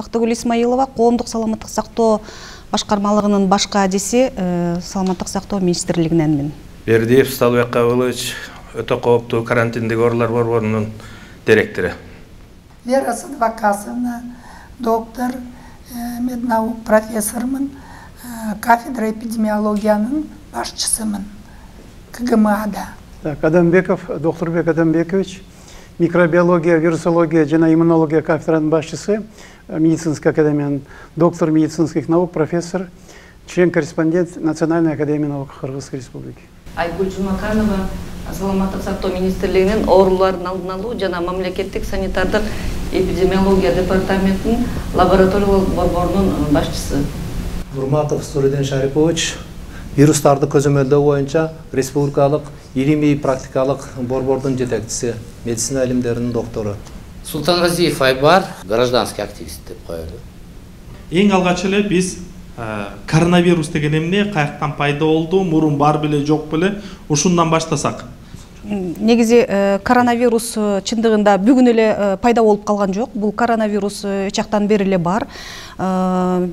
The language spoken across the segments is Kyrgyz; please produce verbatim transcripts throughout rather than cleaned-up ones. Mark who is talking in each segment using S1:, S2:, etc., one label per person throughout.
S1: Бактыгүл Исмаилова, коомдук саламаттык сактоо башкармалыгынын баш кадиси, саламаттык сактоо министрлигиненмин.
S2: Бердиев Сталбек Кабылович, өтө кооптуу карантиндик оорулар борборунун директору.
S3: Вера Садвакасовна, доктор, меднаук профессормун, кафедра эпидемиологиянын башчысымын КГМАда.
S4: Так, Адамбеков, Докторбек Адамбекович, микробиология, вирусология жана иммунология кафедранын башчысы, медицинской академиянын доктор медицинских наук, профессор, член-корреспондент Национальной академии наук Кыргызской республики.
S5: Айгүл Жумаканова, саламаттык сактоо министрлигинин оорулардын алдын алуу жана мамлекеттик санитардык эпидемиология департаментинин лабораториялык борборунун башчысы.
S6: Бурматов Суриден Шарипович, вирустарды көзөмөлдөө боюнча республикалык илимий практикалык борбордун жетекчиси, медицина илимдеринин доктору.
S7: Султангазиев Айбар, гражданский активист деп коелу.
S8: Эң алгач эле биз коронавирус деген эмне, каяктан пайда болду, мурун бар беле жок беле, ушундан баштасак.
S1: Негизи коронавирус чындыгында бүгүн эле пайда болуп калган жок. Бул коронавирус эч жактан бери эле бар.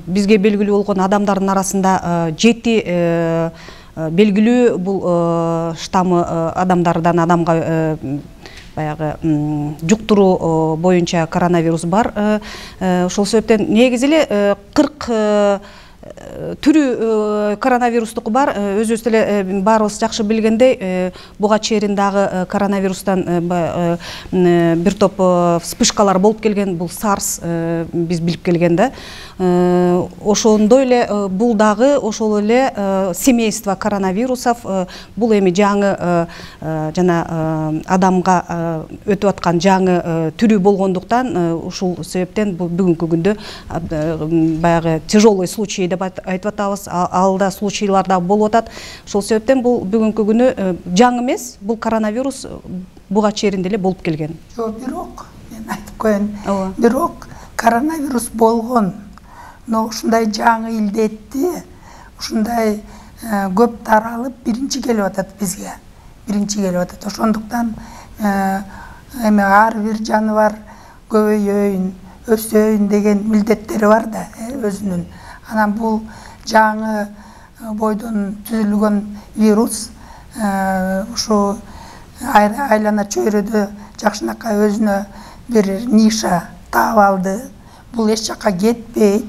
S1: Бизге белгилүү болгон адамдардын арасында жети белгилүү бул штаммы адамдардан адамга баягы жуктуруу боюнча коронавирус бар. Ошол себептен негизи эле кырк түрү коронавирустук бар. Өзүбүз эле баарыбыз жакшы билгендей, буга чейин дагы коронавирустан бир топ вспышкалар болуп келген. Бул SARS биз билип келген да. Ошондой эле бул дагы ошол эле семейство коронавирусов. Бул эми жаңы жана адамга өтүп аткан жаңы түрү болгондуктан ушул себептен бүгүнкү күндө баягы тяжелый случай деп айтып атабыз. Алда случайлар да болуп атат. Ошол себептен бул бүгүнкү күнү жаңы эмес, бул коронавирус буга чейин деле болуп келген.
S3: Жок, бирок мен айтып коеюн. Бирок коронавирус болгон, но ушундай жаңы илдетти, ушундай көп таралып биринчи келип атат бизге. Биринчи келип атат. Ошондуктан эми ар бир жаныбар көбөйөйүн, өсөйүн деген милдеттери бар да өзүнүн. Анан бул жаңы бойдон түзүлгөн вирус ушу айлана чөйрөдө жакшынакай өзүнө бир ниша таап алды. Бул эч жакка кетпейт.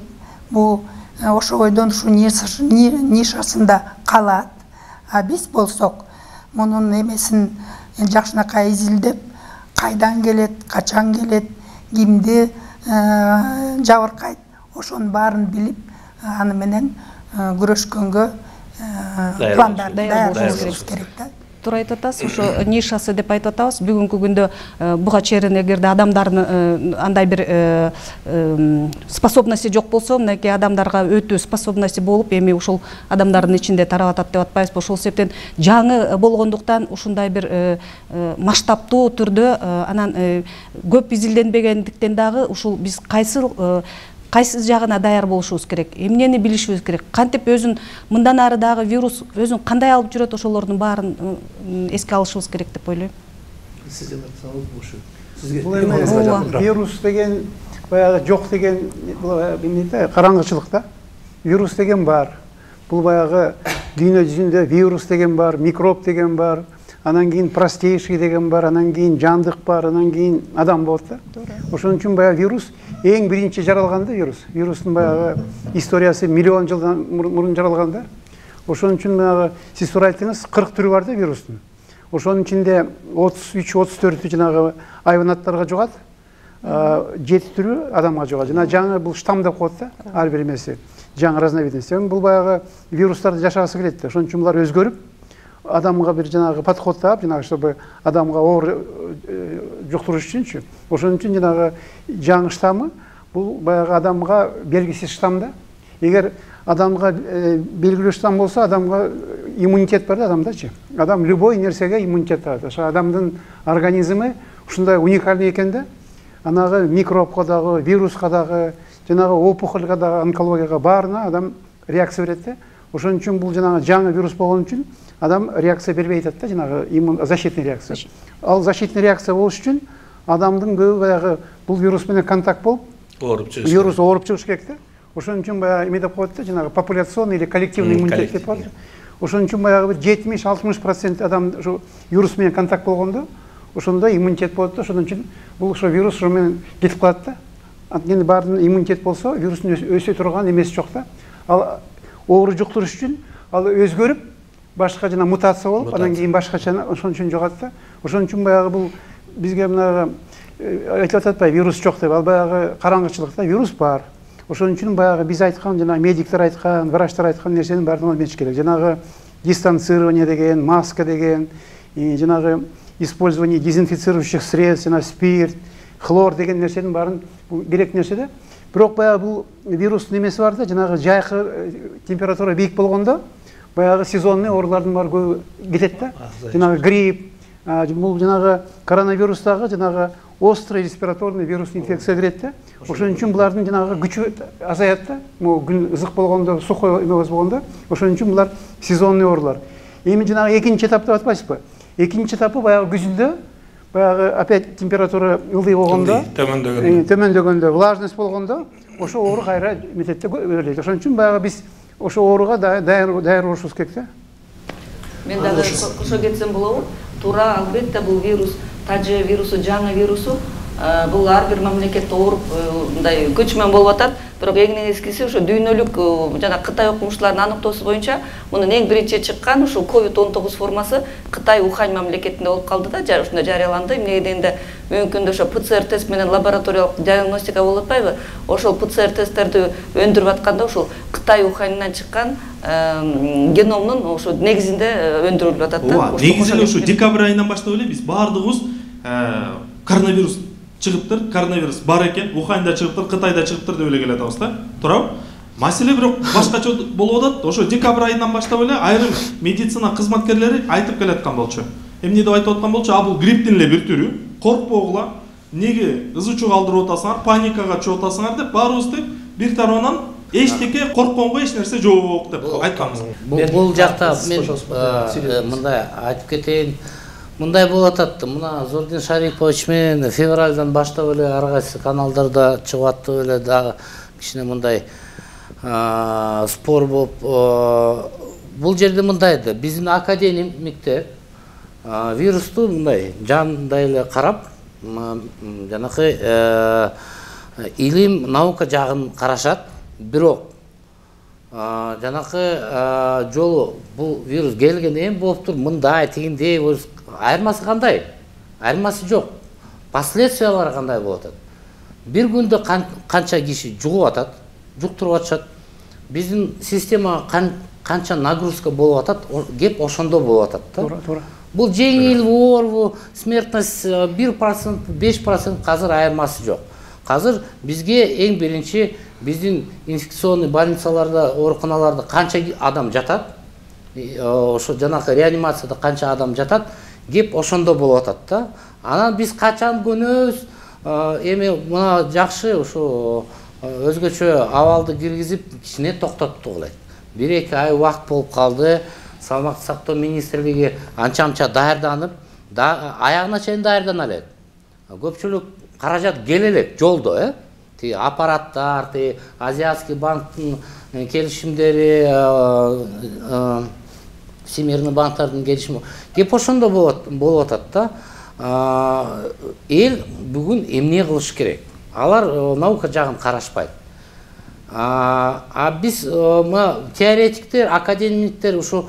S3: Бул ошо бойдон ушу нишасында калат. А биз болсок мунун эмесин жакшынакай изилдеп, кайдан келет, качан келет, кимди жабыркайт, ошонун баарын билип, аны менен күрөшкөнгө пландар даярдашыбыз керек да.
S1: Туура айтып атасыз, ошо нишасы деп айтып атабыз. Бүгүнкү күндө буга чейин эгерде адамдардын андай бир способности жок болсо, мынакей адамдарга өтүү способности болуп, эми ушул адамдардын ичинде тарап атат деп атпайбызбы? Ошол себептен жаңы болгондуктан ушундай бир масштабтуу түрдө анан көп изилденбегендиктен дагы ушул биз кайсыл кайсы жагына даяр болушубуз керек, эмнени билишибиз керек, кантип өзүн мындан ары дагы вирус өзүн кандай алып жүрөт, ошолордун баарын эске алышыбыз керек деп ойлойм.
S6: Сиз деп атсаңыз болушу. Сизге
S4: вирус деген баягы жок деген эмне караңгычылык да. Вирус деген бар. Бул баягы дүйнө жүзүндө вирус деген бар, микроб деген бар. Анан кийин простейший деген бар, анан кийин жандык бар, анан кийин адам болот да. Ошон үчүн баягы вирус эң биринчи жаралган да вирус. Вирустун баягы историясы миллион жылдан мурун жаралган да. Ошон үчүн баягы сиз туура айттыңыз, кырк түрү бар да вирустун. Ошонун ичинде отуз үч отуз төртү жанагы айванаттарга жугат, жети түрү адамга жугат. Жана жаңы бул штамм деп коет да, ар бир эмеси. Жаңы разновидность. Бул баягы вирустарды жашагысы келет да. Ошон үчүн булар өзгөрүп адамга бир жанагы подход таап, жанагы чтобы адамга оор жуктуруш үчүнчү. Ошон үчүн жанагы жаңы штаммы бул баягы адамга белгисиз штамм да. Эгер адамга белгилүү штамм болсо, адамга иммунитет бар да адамдачы. Адам любой нерсеге иммунитет алат. Ошо адамдын организми ушундай уникальный экен да. Анагы микробко дагы, вируска дагы, жанагы опухольга дагы, онкологияга баарына адам реакция берет да. Ошон үчүн бул жанагы жаңы вирус болгон үчүн адам реакция бербей атат да, жанагы иммун защитный реакция. Ал защитный реакция болуш үчүн адамдын көбү баягы бул вирус менен контакт болуп,
S2: ооруп чыгыш
S4: вирус ооруп чыгыш керек да. Ошон үчүн баягы эме деп коет да, жанагы популяционный или коллективный иммунитет деп коет. Ошон үчүн баягы бир жетимиш алтымыш процент адам ушу вирус менен контакт болгондо ошондо иммунитет болот да. Ошон үчүн бул ошо вирус ошо менен кетип калат да. Анткени баарынын иммунитет болсо вирустун өсө турган эмеси жок да. Ал оору жуктуруш үчүн ал өзгөрүп башка жана мутация болуп, андан кийин башкача ошон үчүн жогат да. Ошон үчүн баягы бул бизге мына айтып ататпайбы, вирус жок деп. Ал баягы караңгычылыкта вирус бар. Ошон үчүн баягы биз айткан, жана медиктер айткан, врачтар айткан нерсенин баардыгын билиш керек. Жанагы дистанцирование деген, маска деген, жанагы использование дезинфицирующих средств, жана спирт, хлор деген нерсенин баарын керек нерсе да. Бирок баягы бул вирустун немеси бар да, жанагы жайкы температура бийик болгондо баягы сезонный оорулардын баары көп кетет да. Жанагы грипп, бул жанагы коронавирустагы жанагы острый респираторный вирусный инфекция кирет да. Ошон үчүн булардын жанагы күчү азаят да. Могу күн ызык болгондо, сухой эме болгондо, ошон үчүн булар сезонный оорулар. Эми жанагы экинчи этап деп атпайсызбы? Экинчи этапы баягы күзүндө, баягы опять температура ылдый болгондо, төмөндөгөндө, төмөндөгөндө, влажность болгондо, ошо оору кайра мететте өрөлөйт. Ошон үчүн баягы биз ошо ооруга даяр даяр болушубуз керек да.
S5: Мен дагы кошо кетсем болобу? Туура, албетте бул вирус, тажы вирусу, жаңы вирусу, бул ар бир мамлекетте ооруп, мындай көчмөн болуп атат. Бирок эң негизгиси ошо дүйнөлүк жана Кытай окумуштуларынын аныктоосу боюнча мунун эң биринчи чыккан ушул ковид он тогуз формасы Кытай Ухань мамлекетинде болуп калды да, ушунда жарыяланды. Эмне дегенде мүмкүндө ошо ПЦР тест менен лабораториялык диагностика болуп атпайбы? Ошол ПЦР тесттерди өндүрүп атканда ушул Кытай Уханьдан чыккан геномдун ошо негизинде өндүрүлүп атат да.
S8: Ооба, негизинен ушу декабрь айынан баштап эле биз баардыгыбыз коронавирус чыгыптыр, коронавирус бар экен, Уханьда чыгыптыр, Кытайда чыгыптыр деп эле келатабыз да. Туурабы? Маселе бирок башкача болуп атат. Ошо декабрь айынан баштап эле айрым медицина кызматкерлери айтып келаткан болчу. Эмне деп айтып аткан болчу? А бул грипптин эле бир түрү. Коркпогула. Неге ызы чуу калтырып атасыңар, паникага чыгып атасыңар деп баарыбыз тең бир тарабынан эчтеке коркконго эч нерсе жок деп айтканбыз.
S7: Бул жакта мен мындай айтып кетейин. Мындай болуп атат. Мына Зордин Шарипович менен февралдан баштап эле ар кайсы каналдарда чыгып атты эле дагы кичине мындай спор болуп. Бул жерде мындай да, биздин академиктер вирусту мындай жандай эле карап, жанакы илим, наука жагын карашат. Бирок жанакы жолу бул вирус келгенден кийин болуптур, мындай тигиндей айырмасы кандай? Айырмасы жок. Последствиялары кандай болуп атат? Бир күндө канча киши жугуп атат, жуктуруп атышат. Биздин система канча нагрузка болуп атат, кеп ошондо болуп атат да.
S4: Туура, туура.
S7: Бул жеңил оору, смертность бир процент, беш процент казыр айырмасы жок. Казыр бизге эң биринчи биздин инфекционный больницаларда, ооруканаларда канча адам жатат, ошо жанакы реанимацияда канча адам жатат, кеп ошондо болуп атат да. Анан биз качан көнөбүз, эми мына жакшы ошо өзгөчө абалды киргизип кичине токтоттук элек. бир эки ай убакыт болуп калды. Саламаттык сактоо министрлиги анча-мынча даярданып, аягына чейин даярдана элек. Көпчүлүк каражат келе элек жолдо, э? Ти аппараттар, ти Азиатский банктын келишимдери, Всемирный банктардын келишими кеп ошондо болуп атат да. Эл бүгүн эмне кылыш керек? Алар наука жагын карашпайт. А биз теоретиктер, академиктер ушу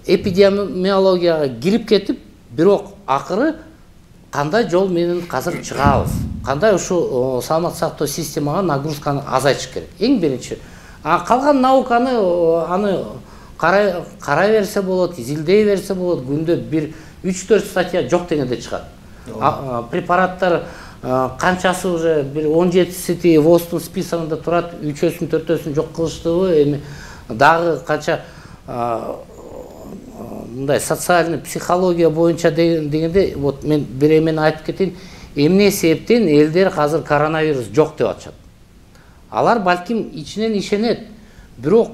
S7: эпидемиологияга кирип кетип, бирок акыры кандай жол менен казыр чыгабыз? Кандай ушу саламаттык сактоо системага нагрузканы азайтыш керек? Эң биринчи. А калган науканы аны карай берсе болот, изилдей берсе болот. Күндө бир үч төрт статья жок дегенде чыгат. Препараттар канчасы уже бир он жетиси ВОЗдун списогунда турат, үчөөсүн төртөөсүн жок кылыштыбы, эми дагы канча мындай социальный психология боюнча дегенде, вот мен бир эмени айтып кетейин, эмне себептен элдер азыр коронавирус жок деп атышат. Алар балким ичинен ишенет, бирок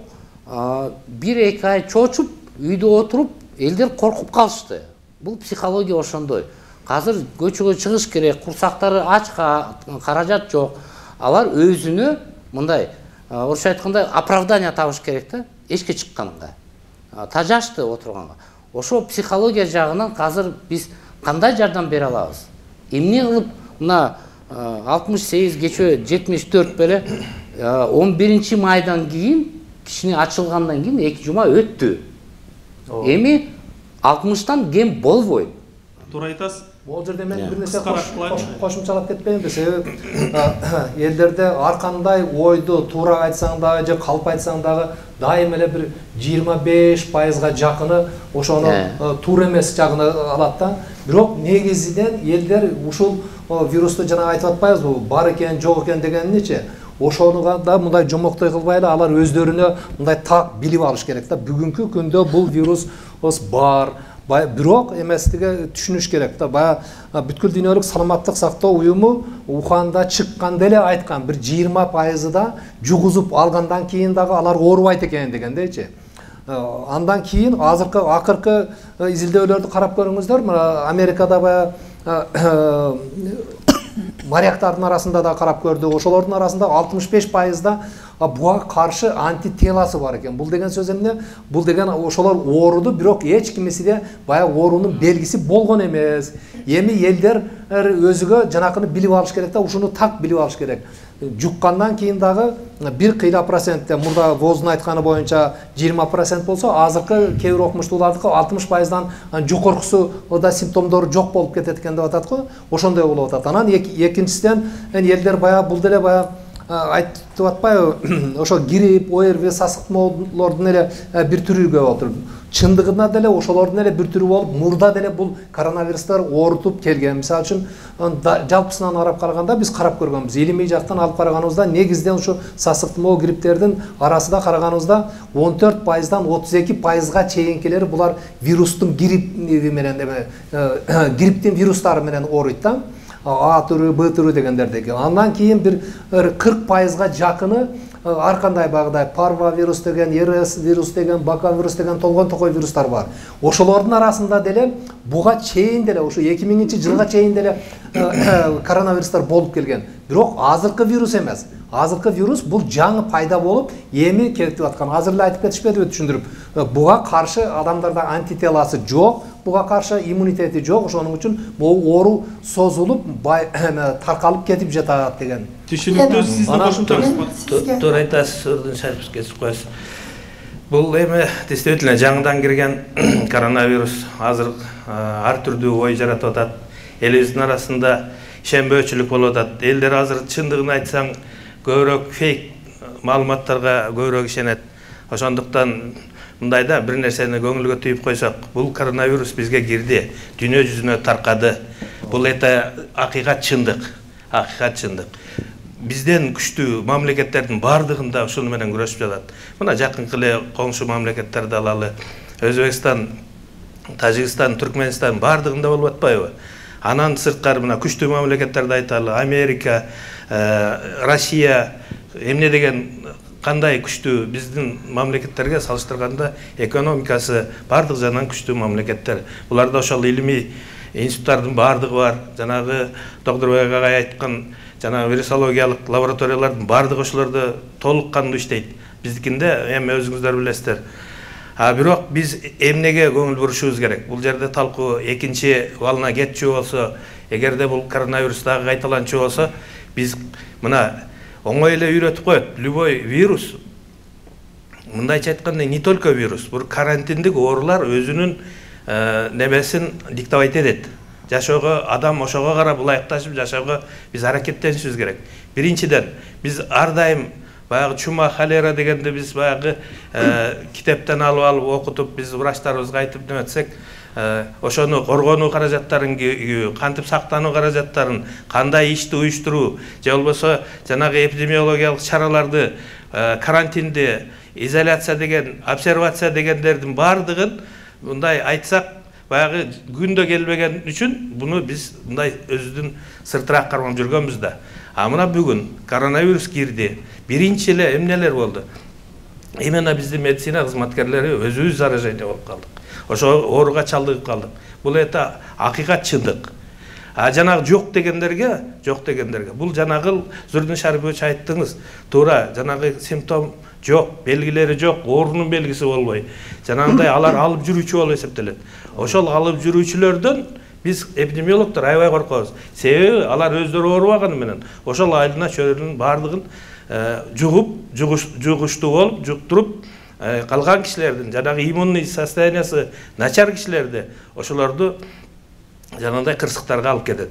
S7: бир эки ай чочуп, үйдө отуруп, элдер коркуп калышты. Бул психология ошондой. Азыр көчөгө чыгыш керек, курсактары ачка, каражат жок. алар өзүнө мындай орусча айтканда оправдание табыш керек да эшикке чыкканга, тажашты отурганга. Ошо психология жагынан азыр биз кандай жардам бере алабыз? Эмне кылып мына алтымыш сегиз кечөө жетимиш төрт беле он биринчи майдан кийин кишини ачылгандан кийин эки жума өттү. Эми алтымыштан кем болбойт.
S8: Туура айтасыз.
S6: Бул жерде мен бир нерсе кошумчалап кетпейинби? Себеби элдерде ар кандай ойду туура айтсаң дагы же калп айтсаң дагы дайым эле бир жыйырма беш пайызга жакыны ошону туура эмес жагына алат да. Бирок негизинен элдер ушул вирусту жана айтып атпайбызбы, бар экен, жок экен дегениничи. Ошонуга да мындай жомоктой кылбай эле алар өздөрүнө мындай так билип алыш керек да. Бүгүнкү күндө бул вирус бар, бирок эместиги түшүнүш керек да. Баягы бүткүл дүйнөлүк саламаттык сактоо уюму Уханда чыкканда эле айткан, бир жыйырма пайызы да жугузуп алгандан кийин дагы алар оорубайт экен дегендейчи. Андан кийин азыркы акыркы изилдөөлөрдү карап көрүңүздөр. Мына Америкада баягы моряктардын арасында да карап көрдүк. Ошолордун арасында алтымыш беш пайызда буга каршы антителасы бар экен. Бул деген сөз эмне? Бул деген ошолор ооруду, бирок эч кимисиде баягы оорунун белгиси болгон эмес. Эми элдер өзүгө жанакыны билип алыш керек да, ушуну так билип алыш керек. Жуккандан кийин дагы бир кыйла процентте, мурда ВОЗдун айтканы боюнча жыйырма процент болсо, азыркы кээ бир окумуштуулардыкы алтымыш пайыздан жогоркусу да симптомдору жок болуп кетет экен деп атат го. Ошондой болуп атат. Анан экинчисинен элдер баягы бул деле баягы айтып атпайбы, ошо грипп, ОРВИ, сасык моолордун эле бир түрү болуп отур. Чындыгында деле ошолордун эле бир түрү болуп, мурда деле бул коронавирустар оорутуп келген. Мисалы үчүн жалпысынан карап караганда биз карап көргөнбүз. Илимий жактан алып караганыбызда негизден ушу сасык моо грипптердин арасында караганыбызда он төрт пайыздан отуз эки пайызга чейинкилери булар вирустун грипп менен грипптин вирустары менен ооруйт да. А түрү, Б түрү дегендердеги. Андан кийин бир кырк пайызга жакыны ар кандай багыдай парвовирус деген, РС вирус деген, бака вирус деген толгон токой вирустар бар. Ошолордун арасында деле буга чейин деле ушу эки миңинчи жылга чейин деле коронавирустар болуп келген. Бирок азыркы вирус эмес. Азыркы вирус бул жаңы пайда болуп, эми кетип аткан. Азыр эле айтып кетишпедиби, түшүндүрүп. Буга каршы адамдарда антителасы жок, буга каршы иммунитети жок, ошонун үчүн бул оору созулуп, таркалып кетип жатат деген.
S8: Түшүнүктүү, сиздин кошумчаңыз.
S2: Туура айтасыз, Ордун Шарипович кесип коесуз. Бул эми действительно жаңыдан кирген коронавирус азыр ар түрдүү ой жаратып атат. Элибиздин арасында ишенбөөчүлүк болуп атат. Элдер азыр чындыгын айтсаң көбүрөөк фейк маалыматтарга көбүрөөк ишенет. Ошондуктан мындайда бир нерсени көңүлгө түйүп койсок, бул коронавирус бизге кирди, дүйнө жүзүнө таркады. Бул это акыйкат чындык, акыйкат чындык. Бизден күчтүү мамлекеттердин бардыгында ушуну менен күрөшүп жатат. Мына жакынкы эле коңшу мамлекеттерди алалы. Өзбекстан, Тажикстан, Түркмөнстан бардыгында болуп атпайбы? Анан сырткары мына күчтүү мамлекеттерди айталы, Америка, Россия, эмне деген кандай күчтүү биздин мамлекеттерге салыштырганда экономикасы бардык жагынан күчтүү мамлекеттер. Буларда ошол илимий институттардын бардыгы бар. Жанагы Доктурбек агай айткан жана вирусологиялык лабораториялардын бардыгы ошолордо толук кандуу иштейт. Биздикинде эми өзүңүздөр билесиздер. А бирок биз эмнеге көңүл бурушубуз керек? Бул жерде талкуу экинчи валына кетчү болсо, эгерде бул коронавирус дагы кайталанчу болсо, биз мына оңой эле үйрөтүп коет. Любой вирус, мындайча айтканда, не только вирус, бул карантиндик оорулар өзүнүн немесин диктовать этет. Жашоого адам ошого карап ылайыкташып жашоого биз аракеттенишибиз керек. Биринчиден, биз ар дайым баягы чума, холера дегенде биз баягы китептен алып алып окутуп, биз врачтарыбызга айтып неметсек, ошону коргонуу каражаттарын, кантип сактануу каражаттарын, кандай ишти уюштуруу, же болбосо жанагы эпидемиологиялык чараларды, карантинди, изоляция деген, обсервация дегендердин бардыгын мындай айтсак, баягы күндө келбеген үчүн буну биз мындай өзүбүздүн сыртыраак кармап жүргөнбүз да. А мына бүгүн коронавирус кирди. Биринчи эле эмнелер болду? Именно биздин медицина кызматкерлери өзүбүз заражение болуп калдык. Ошо ооруга чалдыгып калдык. Бул это акыйкат чындык. А жанагы жок дегендерге, жок дегендерге бул жанагы Зурдин Шарипович айттыңыз, туура, жанагы симптом жок, белгилери жок, оорунун белгиси болбой. Жанагындай алар алып жүрүүчү болуп эсептелет. Ошол алып жүрүүчүлөрдөн биз эпидемиологдор аябай коркобуз. Себеби алар өздөрү оорубаганы менен ошол айылына чөйрөнүн баардыгын жугуп, жугуштуу болуп, жуктуруп, калган кишилердин жанагы иммунный состояниясы начар кишилерди ошолорду жанагындай кырсыктарга алып кетет.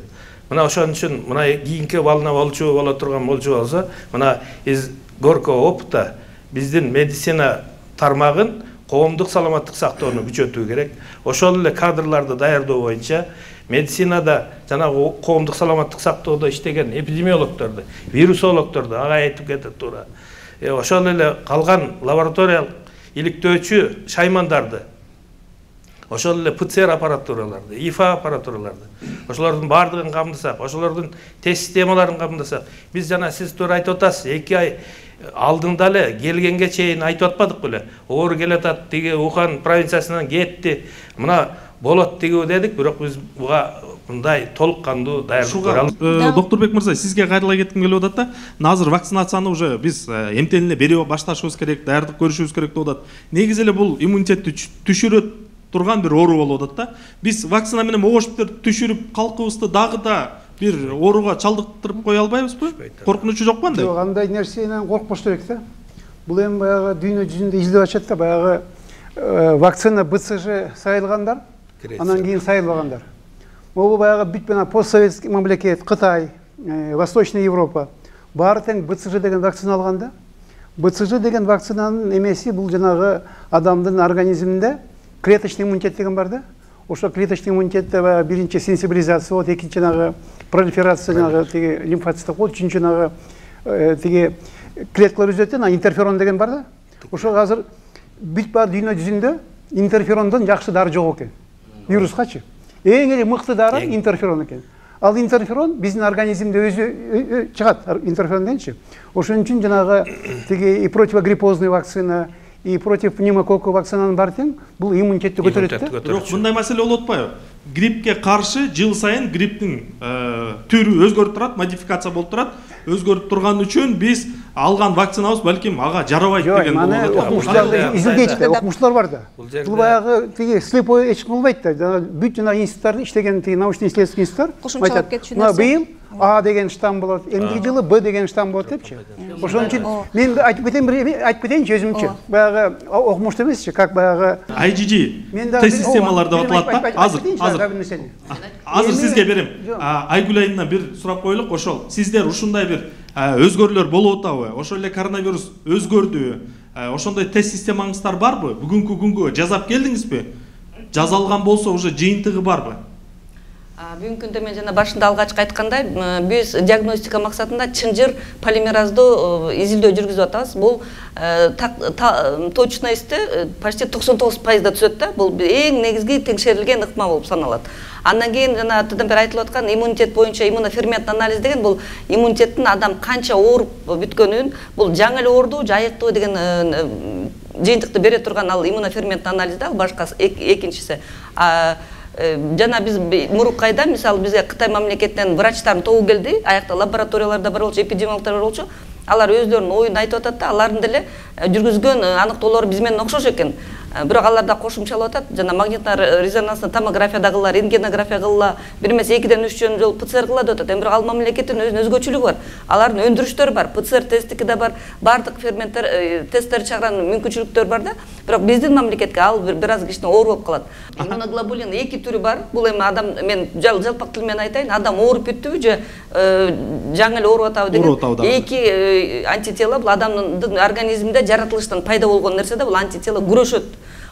S2: Мына ошон үчүн мына кийинки балына болчу боло турган болчу болсо, мына из горького опыта биздин медицина тармагын коомдук саламаттык сактоону күчөтүү керек. Ошол эле кадрларды даярдоо боюнча медицинада жанагы коомдук саламаттык сактоодо иштеген эпидемиологдорду, вирусологдорду ага айтып кетет туура. Ошол эле калган лабораториялык иликтөөчү шаймандарды, ошол эле ПЦР аппаратураларды, ИФА аппаратураларды, ошолордун баардыгын камдасак, ошолордун тест системаларын камдасак, биз жана сиз туура айтып атасыз, эки ай алдында эле келгенге чейин айтып атпадык беле? Оору келатат, тиги Ухан провинциясынан кетти, мына болот тигиби дедик, бирок биз буга мындай толук кандуу даярдык көрө албайбыз.
S8: Доктурбек мырза, сизге кайрыла кетким келип атат да. Азыр вакцинацияны уже биз эмтен эле берип башташыбыз керек, даярдык көрүшүбүз керек деп атат. Негизи эле бул иммунитетти түшүрө турган бир оору болуп атат да. Биз вакцина менен могуш бир түшүрүп калкыбызды дагы да бир ооруга чалдыктырып кое албайбызбы? Коркунучу жокпу андай?
S4: Жок, андай нерсенен коркпош керек да. Бул эми баягы дүйнө жүзүндө изилдеп атышат да, баягы вакцина БЦЖ сайылгандар, анан кийин сайылбагандар. Могу баягы бүт менен постсоветский мамлекет, Кытай, Восточный Европа баары тең БЦЖ деген вакцина алган да. БЦЖ деген вакцинанын эмеси бул жанагы адамдын организминде клеточный иммунитет деген бар да. Ошо клеточный иммунитетте баягы биринчи сенсибилизация болот, экинчи жанагы пролиферация жанагы тиги лимфоциттер болот, үчүнчү жанагы тиги клеткалар үзөт, анан интерферон деген бар да. Ошо азыр бүт бар дүйнө жүзүндө интерферондон жакшы дары жок экен. Вирускачы. Эң эле мыкты дары интерферон экен. Ал интерферон биздин организмде өзү чыгат, интерферон дегенчи. Ошон үчүн жанагы тиги и противогриппозный вакцина, и против пневмококка вакцинанын баары тең бул иммунитетти көтөрөт да.
S8: Бирок мындай маселе болуп атпайбы? Гриппке каршы жыл сайын грипптин түрү өзгөрүп турат, модификация болуп турат. Өзгөрүп турган үчүн биз алган вакцинабыз балким ага жарабайт деген болот.
S4: Жок, мына окумуштуулар изилдейт да, окумуштуулар бар да. Бул баягы тиги слепой эч ким кылбайт да. Бүт жана институттар иштеген тиги научно-исследовательский институттар айтат. Мына быйыл А деген штамм болот, эмдиги жылы Б деген штамм болот депчи. Ошон үчүн мен айтып кетейин, бир айтып кетейинчи өзүмчү. Баягы окумуштуу эмесчи, как баягы
S8: ай джи джи тест системалар деп аталат да. Азыр азыр азыр сизге берем. Айгүл айынан бир сурап коелук. Ошол сиздер ушундай бир өзгөрүүлөр болуп атабы? Ошол эле коронавирус өзгөрдү. Ошондой тест системаңыздар барбы? Бүгүнкү күнгө жазап келдиңизби? Жазалган болсо уже жыйынтыгы барбы?
S5: Бүгүнкү күндө мен жана башында алгачкы айткандай, биз диагностика максатында чынжыр полимераздуу изилдөө жүргүзүп атабыз. Бул точносту почти токсон тогуз пайызда түзөт да. Бул эң негизги текшерилген ыкма болуп саналат. Андан кийин жана атадан бери айтылып аткан иммунитет боюнча иммунофермент анализ деген бул иммунитеттин адам канча ооруп бүткөнүн, бул жаңы эле оорду, жайыктуу деген жыйынтыкты бере турган ал иммунофермент анализ да, башкасы экинчиси. Жана биз мурунку айда мисалы бизге Кытай мамлекетинен врачтардын тобу келди, аякта лабораторияларда бар болчу, эпидемиологдор бар болчу. Алар өздөрүнүн оюн айтып атат да, алардын деле жүргүзгөн аныктоолору биз менен окшош экен. Бирок алар да кошумчалап атат, жана магниттер резонанстык томография да кылалар, рентгенография кылалар, бир эмес экиден үч жолу ПЦР кылат деп атат. Эми бирок ал мамлекеттин өзүнүн өзгөчөлүгү бар. Алардын өндүрүштөрү бар, ПЦР тесттики да бар, бардык ферменттер тесттер чыгарган мүмкүнчүлүктөр бар да. Бирок биздин мамлекетке ал бир аз кичине оор болуп калат. Иммуноглобулин эки түрү бар. Бул эми адам, мен жалпак тил менен айтайын, адам ооруп бүттүбү же жаңы эле ооруп атабы деген эки антитела бул адамдын организминде жаратылыштан пайда болгон нерсе да, бул антитела күрөшөт.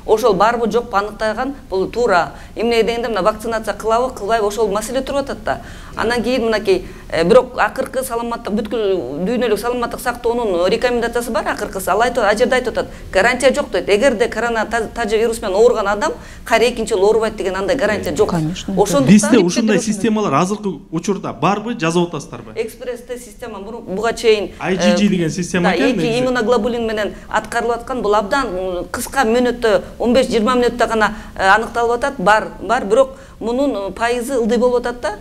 S5: Ошол барбы жокпу аныктаган бул туура. Эмне дегенде мына вакцинация кылабы, кылбайбы ошол маселе туруп атат да. Андан кийин мынакей бирок акыркы саламаттык бүткүл дүйнөлүк саламаттык сактоонун рекомендациясы бар акыркысы. Ал айтып, ал жерде айтып атат, гарантия жок дейт. Эгерде корона тажы вирус менен ооруган адам кайра экинчи жолу оорубайт деген андай гарантия жок.
S8: Ошондуктан бизде ушундай системалар азыркы учурда барбы, жазып атасыздарбы?
S5: Экспресс-тест система буга чейин
S8: ай джи джи деген система экен.
S5: Эки иммуноглобулин менен аткарылып аткан, бул абдан кыска мүнөттө он беш жыйырма мүнөттө гана аныкталып атат. Бар, бар, бирок мунун пайызы ылдый болуп атат да.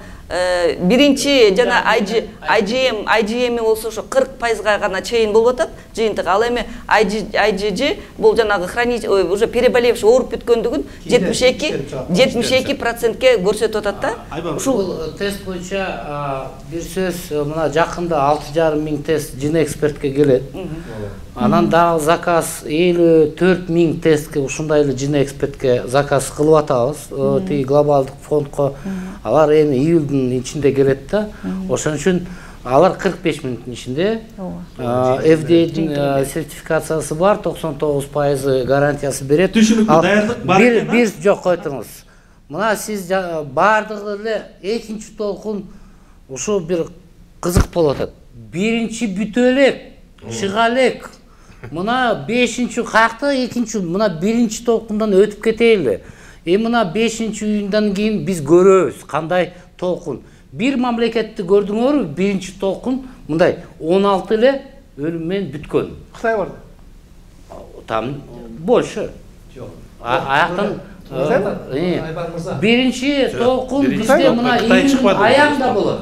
S5: биринчи жана ай джи эм ай джи эм болсо ошо кырк пайызга гана чейин болуп атат жыйынтык. Ал эми ай джи джи бул жанагы хранить уже переболевший ооруп бүткөндүгүн жетимиш эки процентке көрсөтүп атат да.
S7: Ушул тест боюнча бир сөз мына жакында алты жарым миң тест жине экспертке келет. Анан дагы заказ элүү төрт миң тестке ушундай эле жине экспертке заказ кылып атабыз. Тиги глобалдык фондко алар эми июлдун ичинде келет да. Ошон үчүн алар кырк беш мүнөттүн ичинде эф ди эйдин сертификациясы бар, токсон тогуз пайызы гарантиясы берет.
S8: Түшүнүктүү даярдык бар экен.
S7: Бир жок койтуңуз. Мына сиз бардыгы эле экинчи толкун ушу бир кызык болуп атат. Биринчи бүтө элек, чыга элек. Мына бешинчи каякта экинчи, мына биринчи толкундан өтүп кетели. Эми мына бешинчи июндан кийин биз көрөбүз кандай толкун. Бир мамлекетти көрдүңөрбү? Биринчи толкун мындай он алты эле өлүм менен бүткөн.
S4: Кытай бар.
S7: Там больше.
S6: Жок.
S7: Аяктан
S6: Айбар мырза.
S7: Биринчи толкун бизде мына июнь аягында болот.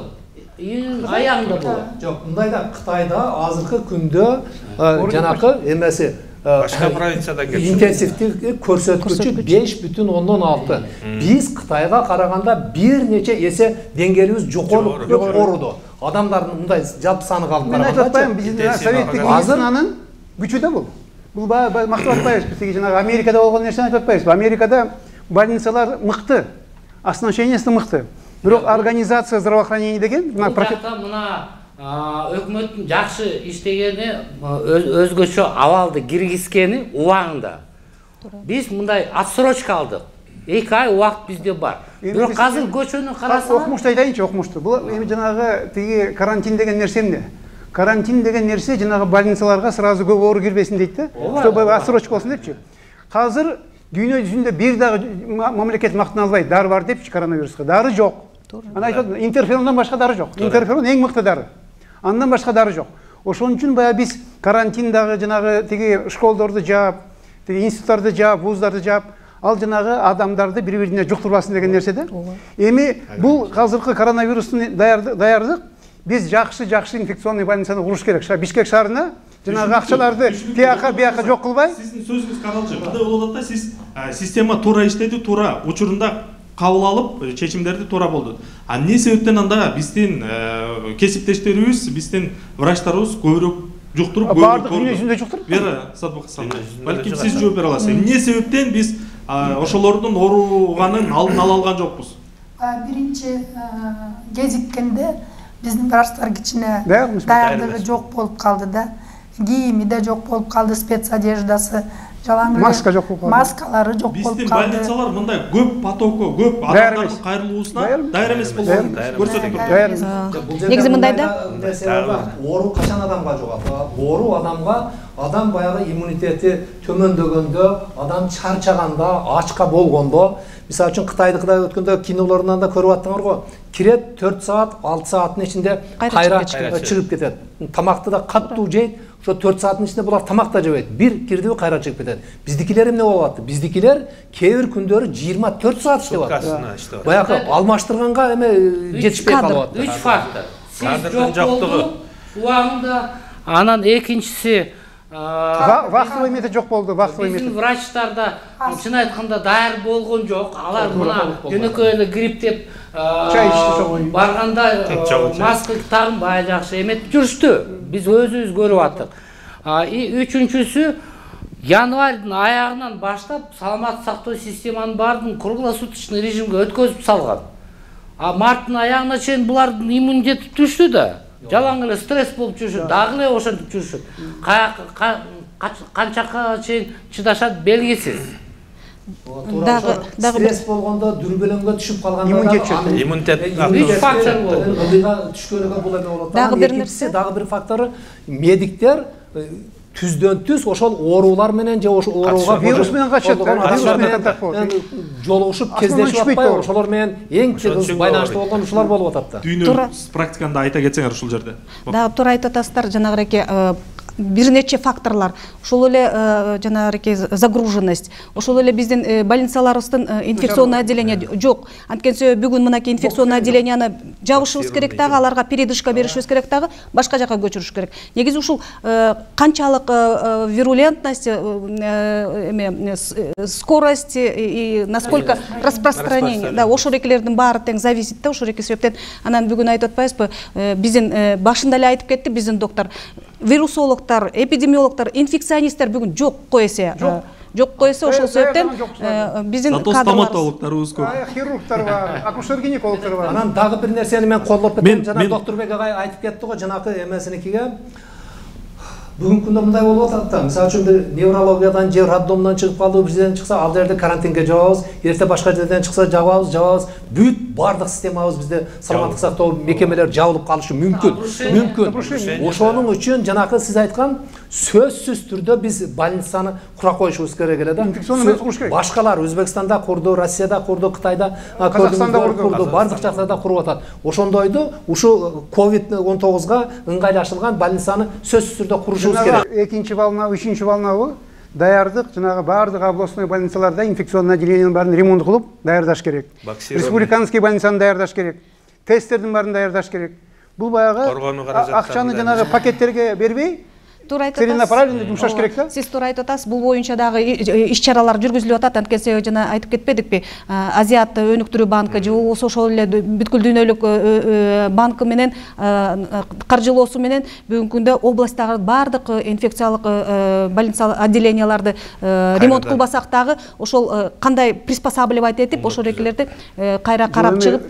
S7: Июнь аягында болот.
S6: Жок, мындайда Кытайда азыркы күндө жанакы эмеси
S2: башка провинциядан келген
S6: интенсивдик көрсөткүчү беш бүтүн ондон алты. Биз Кытайга караганда бир нече эсе деңгээлибиз жогору орудо. Адамдардын мындай жалпы саны калып
S4: Мен айтып атпайм, биздин советтик медицинанын күчү да бул. Бул мактап атпайбыз, биздеги жанагы Америкада болгон нерсени айтып атпайбыз. Америкада больницалар мыкты, оснащениеси мыкты. Бирок организация здравоохранения деген
S7: мына өкмөттүн жакшы иштегени өзгөчө абалды киргизгени убагында. Биз мындай отсрочка алдык. эки ай убакыт бизде бар. Бирок азыр көчөнү карасаңар,
S4: окумушту айтайынчы, окумушту. Бул эми жанагы тиги карантин деген нерсе эмне? Карантин деген нерсе жанагы больницаларга сразу көп оору кирбесин дейт да. Чтобы отсрочка болсун депчи. Азыр дүйнө жүзүндө бир дагы мамлекет мактана албайт. Дары бар депчи коронавируска. Дары жок. Ана айтат, интерферондан башка дары жок. Интерферон эң мыкты дары. Андан башка дары жок. Ошон үчүн баягы биз карантиндагы жанагы тиги школдорду жаап, тиги институттарды жаап, вуздарды жаап, ал жанагы адамдарды бири-бирине жуктурбасын деген нерсе да. Эми бул азыркы коронавирустун даярдык биз жакшы-жакшы инфекционный больницаны куруш керек. Бишкек шаарына жанагы акчаларды тияка бияка жок кылбай.
S8: Сиздин сөзүңүз каралчы. Кандай болуп атат да, сиз система туура иштеди, туура учурунда кабыл алып, чечимдерди туура болду. А эмне себептен анда биздин кесиптештерибиз, биздин врачтарыбыз көбүрөөк жуктуруп, көбүрөөк
S4: бардык дүйнө жүзүндө жуктуруп?
S8: Вера Садбакасовна, балким сиз жооп бере аласыз. Эмне себептен биз ошолордун ооруганын алдын ала алган жокпуз?
S3: Биринчи кезиккенде биздин врачтар кичине даярдыгы жок болуп калды да. Кийими да жок болуп калды, спецодеждасы, жалаң эле
S4: маска жок болуп калды.
S3: Маскалары жок болуп калды.
S8: Биздин больницалар мындай көп потоку, көп адамдардын кайрылуусуна даяр эмес болгонун көрсөтүп турат.
S1: Негизи мындай да,
S6: оору качан адамга жугат? Оору адамга адам баягы иммунитети төмөндөгөндө, адам чарчаганда, ачка болгондо, мисалы үчүн Кытайдыкыда өткөндө кинолорунан да көрүп аттыңар го. Кирет төрт саат, алты сааттын ичинде кайра чыгып кетет. Тамакты да каттуу жейт. Ошо төрт сааттын ичинде булар тамак да жебейт. Бир кирдиби кайра чыгып кетет. Биздикилер эмне болуп атты? Биздикилер кээ бир күндөрү жыйырма төрт саат иштеп атты. Баягы алмаштырганга эме жетишпей калып атты.
S7: Үч фактор. Сиз жок болду, убагында. Анан экинчиси
S4: вахтовый метод жок болду, вахтовый метод.
S7: Биздин врачтарда чын айтканда даяр болгон жок. Алар мына жөнөкөй эле грипп деп барганда маска тагынбай жакшы эметип жүрүштү. Биз өзүбүз көрүп аттык. Үчүнчүсү, январдын аягынан баштап саламаттык сактоо системанын баардыгын круглосуточный режимге өткөзүп салган. А марттын аягына чейин булардын иммунитети түштү да. Жалаң эле стресс болуп жүрүшөт, дагы эле ошентип жүрүшөт. Канчага чейин чыдашат белгисиз.
S6: Дагы стресс болгондо дүрбөлөңгө түшүп калганда
S2: иммунитет
S7: үч фактор болду.
S6: Ылдыйга түшкөнгө бул эме болот.
S1: Дагы бир нерсе,
S6: дагы бир фактору медиктер түздөн түз ошол оорулар менен же ошол ооруга
S4: вирус менен качат, вирус менен контакт болот.
S6: Жолугушуп кездешип атпай, ошолор менен эң чыгыз байланыштуу болгон ушулар болуп атат да.
S8: Дүйнө практиканда айта кетсеңер ушул жерде.
S1: Дагы туура айтып атасыздар, жанагыреке бир нече факторлар. Ошол эле жанагыреке загруженность, ошол эле биздин больницаларыбыздын инфекционный отделение жок. Анткени бүгүн мынакей инфекционный отделенияны жабышыбыз керек дагы, аларга передышка беришибиз керек дагы, башка жака көчүрүш керек. Негизи ушул канчалык вирулентность, эме скорость и насколько распространение, да, ошол экелердин баары тең зависит да, ошол эки себептен. Анан бүгүн айтып атпайбызбы, биздин башында эле айтып кетти биздин доктор, вирусологдор, эпидемиологдор, инфекционисттер бүгүн жок коесе. Жок коесе, ошол себептен биздин
S8: кадрлар, стоматологторубуз көп,
S4: хирургдар бар, акушер-гинекологдор бар.
S6: Анан дагы бир нерсени мен колдоп кетем. Жана Доктурбек агай айтып кетти го, жанакы эмесиникиге. Бүгүнкү күндө мындай болуп атат да. Мисалы үчүн бир неврологиядан же роддомдон чыгып калды, бирден чыкса, ал жерде карантинге жабабыз, эрте башка жерден чыкса жабабыз, жабабыз. Бүт бардык системабыз бизде саламаттык сактоо мекемелери жабылып калышы мүмкүн. Мүмкүн. Ошонун үчүн жанакы сиз айткан сөзсүз түрдө биз больницаны кура коюшубуз керек эле да.
S4: Инфекционный куруш керек.
S6: Башкалар Өзбекстанда курду, Россияда курду, Кытайда, Казакстанда курду, бардык жактарда куруп атат. Ошондойду ушу ковид он тогузга ыңгайлашылган больницаны сөзсүз түрдө курушубуз керек.
S4: Экинчи волна, үчүнчү волнабы даярдык, жанагы бардык областной больницаларда инфекционный отделениянын баарын ремонт кылып даярдаш керек. Республиканский больницаны даярдаш керек. Тесттердин баарын даярдаш керек. Бул баягы акчаны жанагы пакеттерге бербей, целенаправленно жумшаш керек да.
S1: Сиз туура айтып атасыз, бул боюнча дагы иш-чаралар жүргүзүлүп атат. Анткени жана айтып кетпедикпи? Азиат өнүктүрүү банкы же болбосо ошол эле бүткүл дүйнөлүк банкы менен каржылоосу менен бүгүнкү күндө областтагы бардык инфекциялык больница отделенияларды ремонт кылбасак дагы ошол кандай приспосабливать этип ошол экелерди кайра карап чыгып,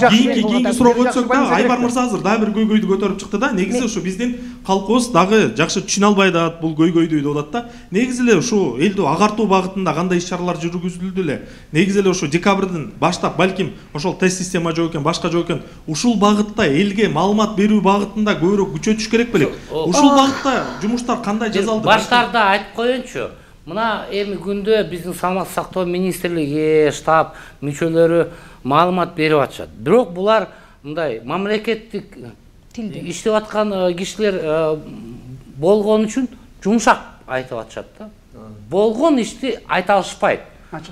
S8: кийинки суроого өтсөк да, Айбар мырза азыр дагы бир көйгөйдү көтөрүп чыкты да. Негизи ушу биздин калкыбыз жакшы түшүнө албай да бул көйгөйдү деп атат да. Негизи эле ушу элди агартуу багытында кандай иш-чаралар жүргүзүлдү эле? Негизи эле ушу декабрдын баштап балким ошол тест система жок экен, башка жок экен. Ушул багытта элге маалымат берүү багытында көбүрөөк күчөтүш керек белек. Ушул багытта жумуштар кандай жасалды?
S7: Баштарда айтып коеюнчу. Мына эми күндө биздин саламаттык сактоо министрлиги, штаб мүчөлөрү маалымат берип атышат. Бирок булар мындай мамлекеттик иштеп аткан кишилер болгон үчүн жумшак айтып атышат да. Болгон ишти айта алышпайт.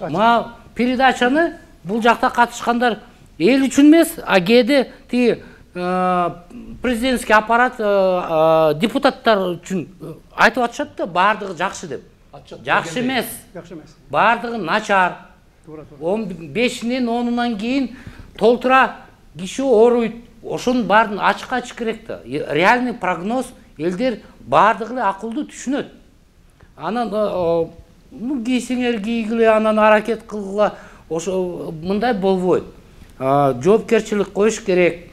S7: Мына передачаны бул жакта катышкандар эл үчүн эмес, а кээде тиги президентский аппарат депутаттар үчүн айтып атышат да, баардыгы жакшы деп. Жакшы эмес.
S4: Жакшы эмес.
S7: Баардыгы начар. он бешинен онунан кийин толтура киши ооруйт. Ошонун баарын ачык ачык керек да. Реальный прогноз элдер баардыгы эле акылдуу түшүнөт. Анан ну кийсеңер кийгиле, анан аракет кылгыла, ошо мындай болбойт. Жоопкерчилик коюш керек.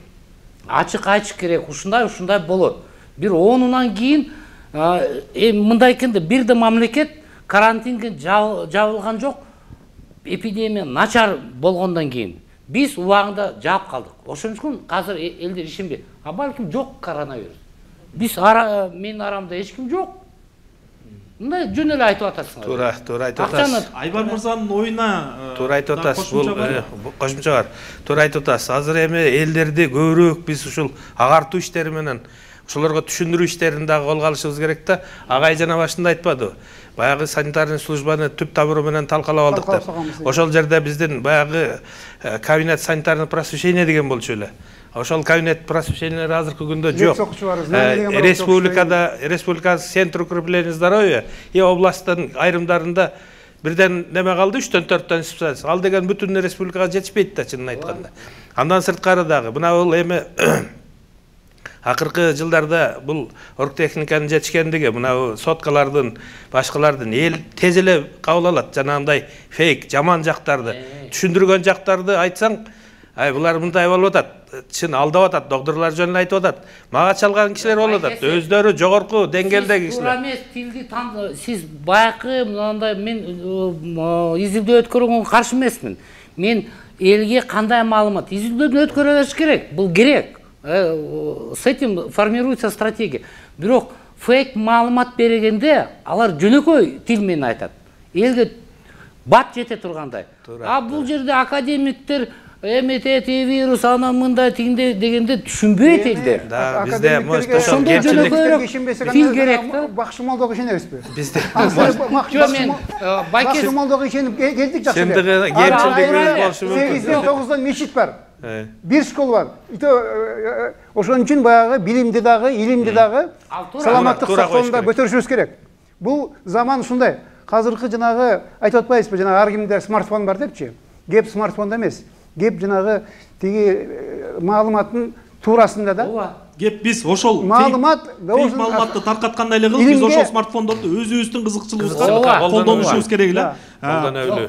S7: Ачык айтыш керек. Ушундай ушундай болот. Бир онунан кийин мындай экен да, бир да мамлекет карантинге жабылган жок. Эпидемия начар болгондон кийин биз убагында жаап калдык. Ошон үчүн азыр элдер ишенбейт. А балким жок коронавирус. Биз ара менин арамда эч ким жок. Мындай жөн эле айтып атасың.
S2: Туура, туура айтып атасыз.
S8: Айбар мырзанын оюна
S2: туура айтып атасыз. Бул кошумча бар. Туура айтып атасыз. Азыр эми элдерди көбүрөөк биз ушул агартуу иштери менен ошолорго түшүндүрүү иштерин дагы колго алышыбыз керек да. Агай жана башында айтпадыбы? Баягы санитарный службаны түп табыры менен талкалап алдык деп. Ошол жерде биздин баягы кабинет санитарный просвещение деген болчу эле. Ошол кабинет просвещениялар азыркы күндө жок. Республикада, республикасы центр укрепления здоровья и областтын айрымдарында бирден неме калды, үчтөн төрттөн специалист. Ал деген бүтүн республикага жетишпейт да, чынын айтканда. Андан сырткары дагы мына бул эми акыркы жылдарда бул оргтехниканын жетишкендиги, мына соткалардын, башкалардын эл тез эле кабыл алат. Жанагындай фейк, жаман жактарды, түшүндүргөн жактарды айтсаң, ай булар мындай болуп атат. Чын алдап атат, доктурлар жөнүндө айтып атат. Мага чалган кишилер болуп атат. Өздөрү жогорку деңгээлдеги кишилер.
S7: Туура эмес, тилди сиз баякы мындай мен изилдөө өткөргөнгө каршы эмесмин. Мен элге кандай маалымат изилдөөдөн өткөрө бериш керек. Бул керек. С этим формируется стратегия. Бирок фейк маалымат бергенде алар жөнөкөй тил менен айтат. Элге бат жете тургандай. А бул жерде академиктер эметети вирус анан мындай тигинде дегенде түшүнбөйт элдер.
S2: Да, бизде
S7: ошондо жөнөкөйрөөк тил керек да.
S4: Бакшымалдоого ишенебизби?
S2: Бизде
S7: мен
S4: бакшымалдоого ишенип келдик жакшы.
S2: Чындыгы кемчилдигибиз болушу мүмкүн.
S4: сегизден тогуздан мечит бар. Бир школа бар. Ошон үчүн баягы билимди дагы, илимди дагы саламаттык сактоонда көтөрүшүбүз керек. Бул заман ушундай. Азыркы жанагы айтып атпайбызбы, жанагы ар кимде смартфон бар депчи. Кеп смартфонда эмес. Кеп жанагы тиги маалыматтын туурасында да.
S8: Ооба. Кеп биз ошол
S4: маалымат,
S8: фейк маалыматты таркаткандай эле кылып, биз ошол смартфондорду өзүбүздүн кызыкчылыгыбызга колдонушубуз керек эле.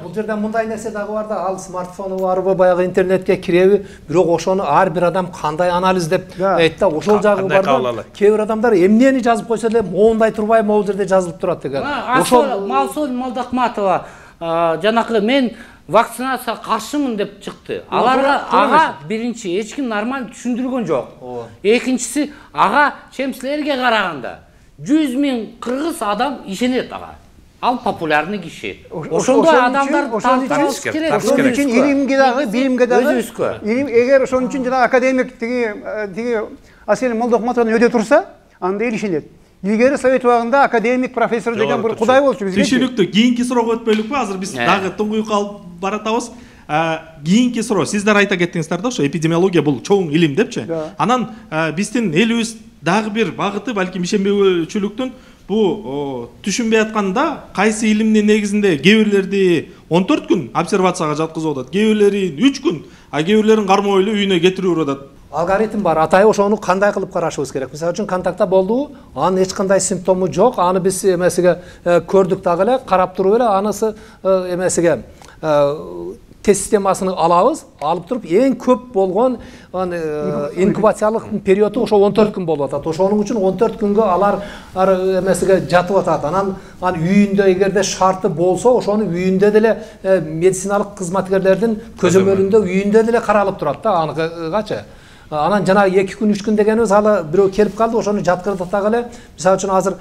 S6: Бул жерде мындай нерсе дагы бар да, ал смартфону барбы, баягы интернетке киреби, бирок ошону ар бир адам кандай анализдеп айтты да, ошол жагы бар да. Кээ бир адамдар эмнени жазып койсо эле моундай турбай, могул жерде жазылып турат деген.
S7: Ошол Малсол Молдокматова жанакы мен вакцинацияга каршымын деп чыкты. Аларга ага биринчи эч ким нормаль түшүндүргөн жок. Экинчиси ага чемсилерге караганда жүз миң кыргыз адам ишенет ага. Ал популярный киши. Ошондой адамдар тартабыз керек.
S4: Ошон үчүн илимге дагы, билимге дагы илим эгер ошон үчүн жана академик тиги тиги Асель Молдокматованы өдө турса, анда эл ишенет. Илгери совет убагында академик профессор деген бир кудай болчу бизге.
S8: Тишиликтүү кийинки суроого өтпөйлүкпү? Азыр биз дагы туңгуйук алып баратабыз. Кийинки суроо, сиздер айта кеттиңиздер да, ошо эпидемиология бул чоң илим депчи. Анан биздин элибиз дагы бир багыты, балким ишенбөөчүлүктүн бу түшүнбөй атканда кайсы илимдин негизинде кээ бирлерди он төрт күн обсервацияга жаткызып атат, кээ бирлерин үч күн, а кээ бирлерин кармоо эле үйүнө кетирип атат.
S6: Алгоритм бар. Атайы ошону кандай кылып карашыбыз керек? Мисалы үчүн контактта болду, анын эч кандай симптому жок, аны биз эмесиге көрдүк дагы эле, карап туруп эле анысы эмесиге тест системасын алабыз, алып туруп эң көп болгон инкубациялык периоду ошо он төрт күн болуп атат. Ошонун үчүн он төрт күнгө алар эмесиге жатып атат. Анан анан үйүндө эгерде шарты болсо, ошону үйүндө деле медициналык кызматкерлердин көзөмөлүндө үйүндө деле каралып турат да аныкыгачы. Анан жана эки күн үч күн дегенибиз алы бирөө келип калды, ошону жаткырдык дагы эле. Мисалы үчүн азыр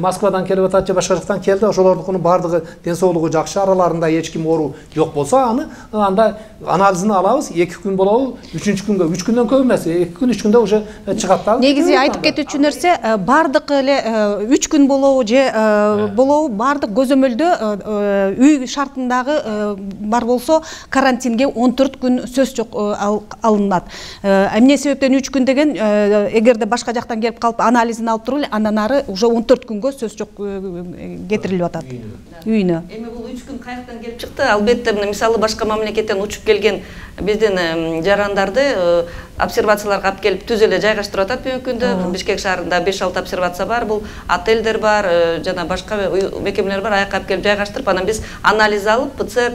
S6: Москвадан келип атат же башка жактан келди, ошолордун баардыгы ден соолугу жакшы, араларында эч ким оору жок болсо, аны анда анализин алабыз, эки күн болобу, үчүнчү күнгө, үч күндөн көп эмес, эки күн үч күндө уже чыгат да.
S1: Негизи айтып кетүүчү нерсе, баардык эле үч күн болобу же болобу, баардык көзөмөлдө үй шартындагы бар болсо, карантинге он төрт күн сөз жок алынат. Эмне себептен үч күн деген, эгерде башка жактан келип калып анализин алып туруп эле, андан ары уже он төрт күнгө сөз жок кетирилип атат үйүнө.
S5: Эми бул үч күн каяктан келип чыкты? Албетте, мисалы башка мамлекеттен учуп келген биздин жарандарды обсервацияларга алып келип түз эле жайгаштырып атат бүгүнкү күндө. Бишкек шаарында беш алты обсервация бар, бул отелдер бар, жана башка мекемелер бар, аяка алып келип жайгаштырып, анан биз анализ алып, ПЦР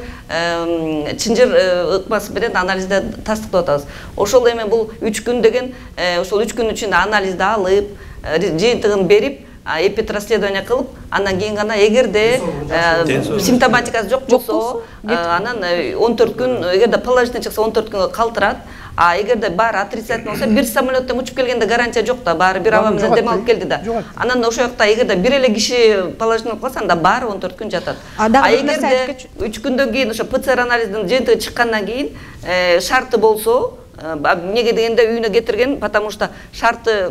S5: чынжыр ыкмасы менен анализде тастыктап атабыз. Ошол эми бул үч күн деген, ошол үч күн ичинде анализди алып, жыйынтыгын берип, эпидрасследование кылып, андан кийин гана эгерде симптоматикасы жок болсо, анан он төрт күн, эгерде положительный чыкса он төрт күнгө калтырат. А эгерде баары отрицательный болсо, бир самолеттен учуп келгенде гарантия жок да, баары бир аба менен дем алып келди да. Анан ошол жакта эгерде бир эле киши положительный болуп калса, анда баары он төрт күн жатат. А эгерде үч күндөн кийин ошо ПЦР анализдин жыйынтыгы чыккандан кийин шарты болсо, эмнеге дегенде үйүнө кетирген, потому что шарты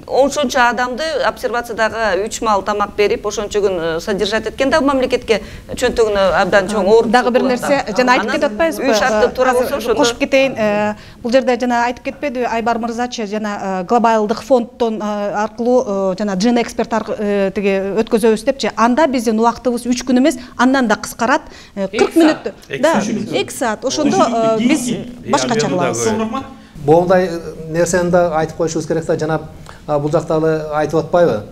S5: ошончо адамды обсервациядагы үч маал тамак берип, ошончо күн содержать эткен да мамлекетке чөнтөгүнө абдан чоң оор.
S1: Дагы бир нерсе жана айтып кетип атпайбызбы?
S5: Үй шарты туура болсо ошондо
S1: кошуп кетейин. Бул жерде жана айтып кетпедиби Айбар мырзачы, жана глобалдык фонддон аркылуу жана Gen Expert тиги өткөзөбүз депчи. Анда биздин убактыбыз үч күн эмес, андан да кыскарат. кырк мүнөттө. Да, эки саат. Ошондо биз башкача кылабыз.
S6: Боундай нерсени да айтып коюшубуз керек да, жана бул жакта айтып атпайбы?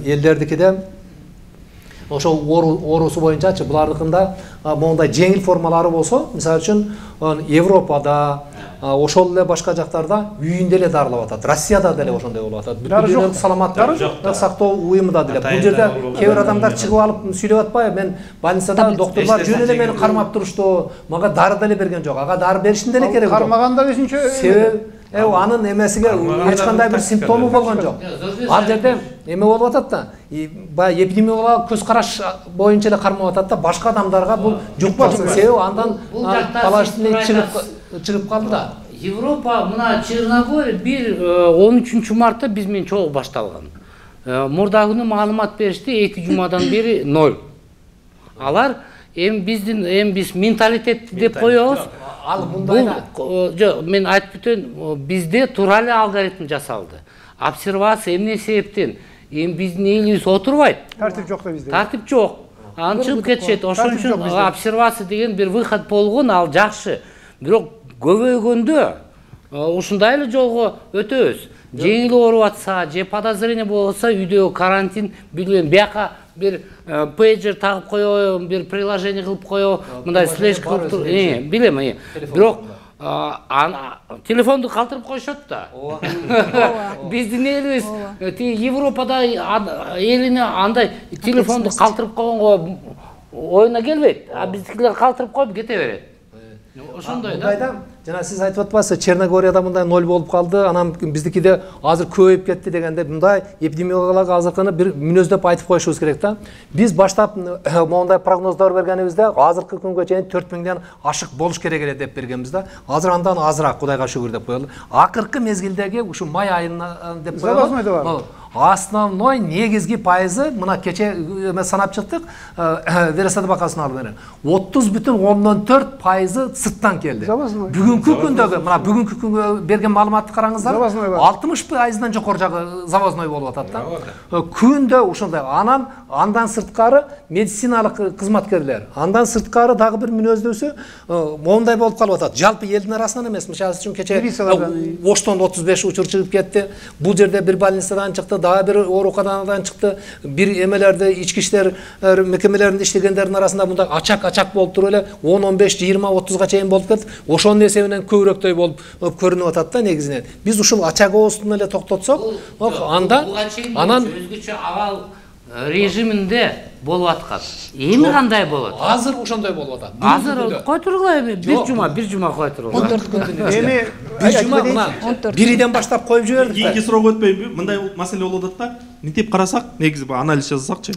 S6: Элдердикиде ошол оорусу боюнчачы булардыкында моундай жеңил формалары болсо, мисалы үчүн Европада, ошол эле башка жактарда үйүндө эле дарылап атат. Россияда деле ошондой болуп атат. Бүт саламаттык сактоо уюмунда деле. Бул жерде кээ бир адамдар чыгып алып сүйлөп атпайбы? Мен больницада доктурлар жөн эле мени кармап турушту, мага дары деле берген жок. Ага дары бериштин деле кереги жок.
S4: Кармаганда өзүнчө
S6: себеби анын эмесиге эч кандай бир симптому болгон жок. Ал жерде эме болуп атат да, баягы эпидемиологиялык көз караш боюнча эле кармап атат да, башка адамдарга бул жукпасын. Себеби андан положительный чыгып чыгып калды да.
S7: Европа мына Черногория бир он үчүнчү мартта биз менен чогуу башталган. Мурда күнү маалымат беришти, эки жумадан бери ноль. Алар эми биздин эми биз менталитет деп коебуз.
S6: Ал мындай да.
S7: Жок, мен айтып өтөйүн, bizde туура эле алгоритм жасалды. Обсервация эмне себептен? Эми биздин элибиз отурбайт.
S4: Тартип жок да бизде.
S7: Тартип жок. Аны чыгып кетишет. Ошон үчүн обсервация деген бир выход болгон, ал жакшы. Бирок көбөйгөндө ушундай эле жолго өтөбүз. Жеңил ооруп атса, же подозрение болса, үйдө карантин билбейм, бияка бир пейджер тагып коёбу, бир приложение кылып коёбу, мындай слэш кылып туруп, билем, бирок телефонду калтырып коюшат да. Биздин элибиз тиги Европада элине андай телефонду калтырып койгонго оюна келбейт, а биздикилер калтырып коюп кете берет. Ошондой да.
S6: Жана сиз айтып атпасыз, Черногорияда мындай ноль болуп калды, анан биздикиде азыр көбөйүп кетти дегенде, мындай эпидемиологиялык азыркыны бир мүнөздөп айтып коюшубуз керек да. Биз баштап моундай прогноздор бергенибизде, азыркы күнгө чейин төрт миңден ашык болуш керек эле деп бергенбиз да. Азыр андан азыраак, Кудайга шүгүр деп коелу. Акыркы мезгилдеги ушу май айына деп коелу. Основной негизги пайызы мына кече санап чыктык, Вересад бакасын алып бере. отуз бүтүн ондон төрт пайызы сырттан келди. Бүгүнкү күндөгү, мына бүгүнкү күнгө берген маалыматты караңыздар. алтымыш пайыздан жокор жагы завозной болуп атат да. Күндө ушундай. Анан андан сырткары медициналык кызматкерлер, андан сырткары дагы бир мүнөздөсү моундай болуп калып атат. Жалпы элдин арасынан эмес. Мисалы үчүн кече Оштон отуз беш учур чыгып кетти. Бул жерде бир больницадан чыкты, дагы бир ооруканадан чыкты. Бир эмелерде ички иштер мекемелеринде иштегендердин арасында мындай ачак-ачак болуп туруп эле он он беш жыйырма отузга чейин болуп кетти. Ошонун эсебинен көбүрөөктөй болуп көрүнүп атат да негизинен. Биз ушул ачагыбыздын эле токтотсок, анда анан
S7: өзгөчө абал режиминде болуп аткан. Эми кандай болот?
S6: Азыр ошондой болуп атат.
S7: Азыр кой тургула эми бир жума, бир жума кой тургула.
S4: он төрт күн. Эми
S6: бир жума мына бириден баштап коюп жибердик.
S8: Кийинки суроого өтпөйбү? Мындай маселе болуп атат да. Мынтип карасак, негизи анализ жасасакчы,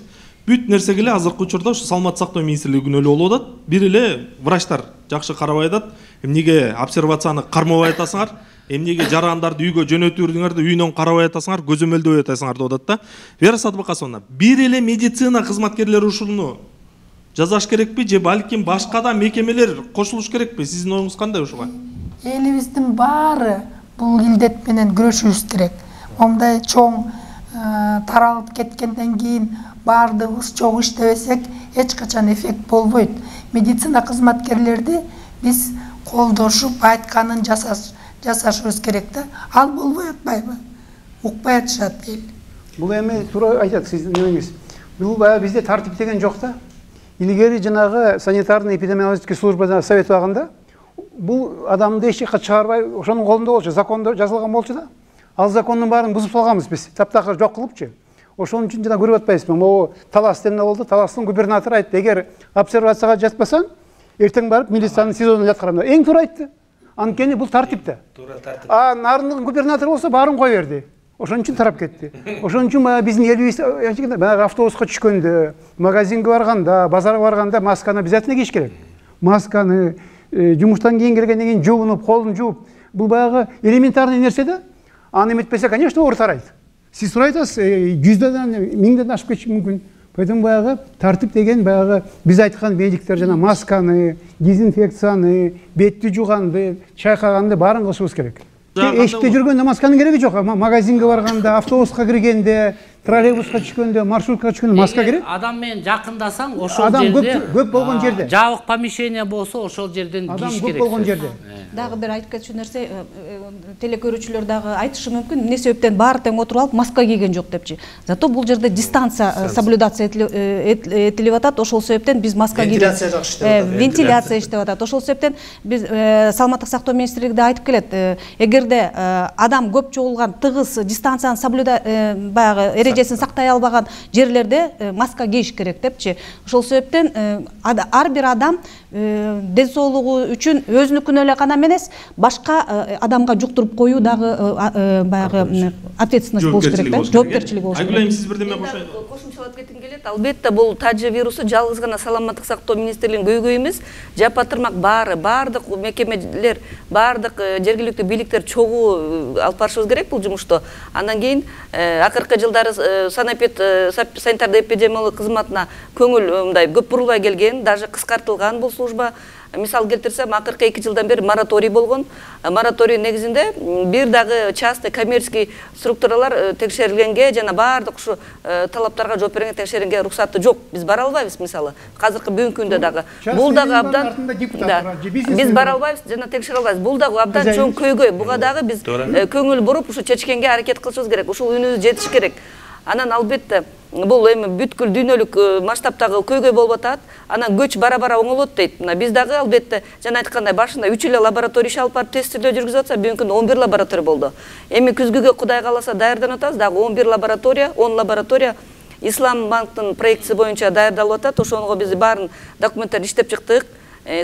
S8: бүт нерсеге эле азыркы учурда ушу саламаттык сактоо министрлиги күнөөлүү болуп атат. Бир эле врачтар жакшы карабай атат. Эмнеге обсервацияны кармабай атасыңар? Эмнеге жарандарды үйгө жөнөтүрдүңөр да үйүнөн карабай атасыңар, көзөмөлдөбөй атасыңар деп атат да. Вера Садбакасовна, бир эле медицина кызматкерлери ушуну жазаш керекпи же балким башка да мекемелер кошулуш керекпи? Сиздин оюңуз кандай ушуга?
S3: Элибиздин баары бул илдет менен күрөшүшүбүз керек. Мондай чоң таралып кеткенден кийин баардыгыбыз чогуу иштебесек, эч качан эффект болбойт. Медицина кызматкерлерди биз колдошуп айтканын жасаш жасашыбыз керек да. Ал болбой атпайбы? Укпай атышат эл.
S4: Бул эми туура айтат сиздин немеңиз. Бул баягы бизде тартип деген жок да. Илгери жанагы санитарный эпидемиологический службадан советоваганда бул адамды эч жакка чыгарбай, ошонун колунда болчу, закондо жазылган болчу да. Ал закондун баарын бузуп салганбыз биз. Таптакыр жок кылыпчы. Ошон үчүн жана көрүп атпайсызбы? Могу Талас эмне болду? Таластын губернатору айтты, эгер обсервацияга жатпасаң, эртең барып милициянын СИЗОдон жаткырам. Эң туура айтты. Анткени бул тартип да. А нарындын губернатору болсо баарын кой берди. Ошон үчүн тарап кетти. Ошон үчүн баягы биздин элибиз баягы автобуска түшкөндө, магазинге барганда, базарга барганда масканы обязательно кийиш керек. Масканы жумуштан кийин келгенден кийин жуунуп, колун жууп, бул баягы элементарный нерсе да. Аны эметпесе, конечно, оор тарайт. Сиз сурай атасыз, жүздөн, миңден ашып кетиши мүмкүн. Поэтому баягы тартип деген баягы биз айткан медиктер жана масканы, дезинфекцияны, бетти жууганды, чайкаганды баарын кылышыбыз керек. Эшикте жүргөндө масканын кереги жок. Магазинге барганда, автобуска киргенде, троллейбуска түшкөндө, маршрутка түшкөндө маска керек.
S7: Адам менен жакындасаң, ошол жерде
S4: адам көп болгон жерде.
S7: Жабык помещение болсо, ошол жерден кийиш керек.
S4: Адам көп болгон жерде.
S1: Дагы бир айтып кетчү нерсе, телекөрүүчүлөр дагы айтышы мүмкүн, эмне себептен баары тең отуруп алып маска кийген жок депчи. Зато бул жерде дистанция соблюдация этилип атат. Ошол себептен биз маска кийип вентиляция иштеп атат. Ошол себептен биз саламаттык сактоо министрлиги айтып келет, эгерде адам көп чогулган, тыгыз дистанцияны соблюда баягы эрежесин сактай албаган жерлерде маска кийиш керек депчи. Ошол себептен ар бир адам ден соолугу үчүн өзүнүкүнө эле гана эмес, башка адамга жуктуруп коюу дагы баягы ответственность болуш керек да, жоопкерчилик болуш керек.
S8: Айгүл айым, сиз бирдеме кошо.
S5: Кошумчалап кетким келет. Рахмет. Албетте бул тажы вирусу жалгыз гана саламаттык сактоо министрлигинин көйгөйү эмес, жапа тырмак баары, баардык мекемелер, баардык жергиликтүү бийликтер чогуу алып барышыбыз керек бул жумушту. Андан кийин акыркы жылдары санэпид санитардык эпидемиологиялык кызматына көңүл мындай көп бурулбай келген, даже кыскартылган бул служба. Мисал келтирсем, акыркы эки жылдан бери мораторий болгон. Мораторий негизинде бир дагы частный коммерческий структуралар текшерилгенге жана баардык ушу талаптарга жооп берген текшеренге уруксаты жок. Биз бара албайбыз мисалы. Азыркы бүгүнкү күндө дагы. Бул дагы абдан биз бара албайбыз жана текшере албайбыз. Бул дагы абдан чоң көйгөй. Буга дагы биз көңүл буруп ушу чечкенге аракет кылышыбыз керек. Ушул үнүбүз жетиш керек. Анан албетте бул эми бүткүл дүйнөлүк масштабтагы көйгөй болуп атат. Анан көч бара-бара оңолот дейт. Мына биз дагы албетте жана айткандай башында үч эле лаборатория иш алып барып тестирөө жүргүзүп атса, бүгүнкү күндө он бир лаборатория болду. Эми күзгүгө Кудай кааласа даярданып атабыз, дагы он бир лаборатория, он лаборатория Ислам банктын проектиси боюнча даярдалып атат. Ошонго биз баарын документтерин иштеп чыктык.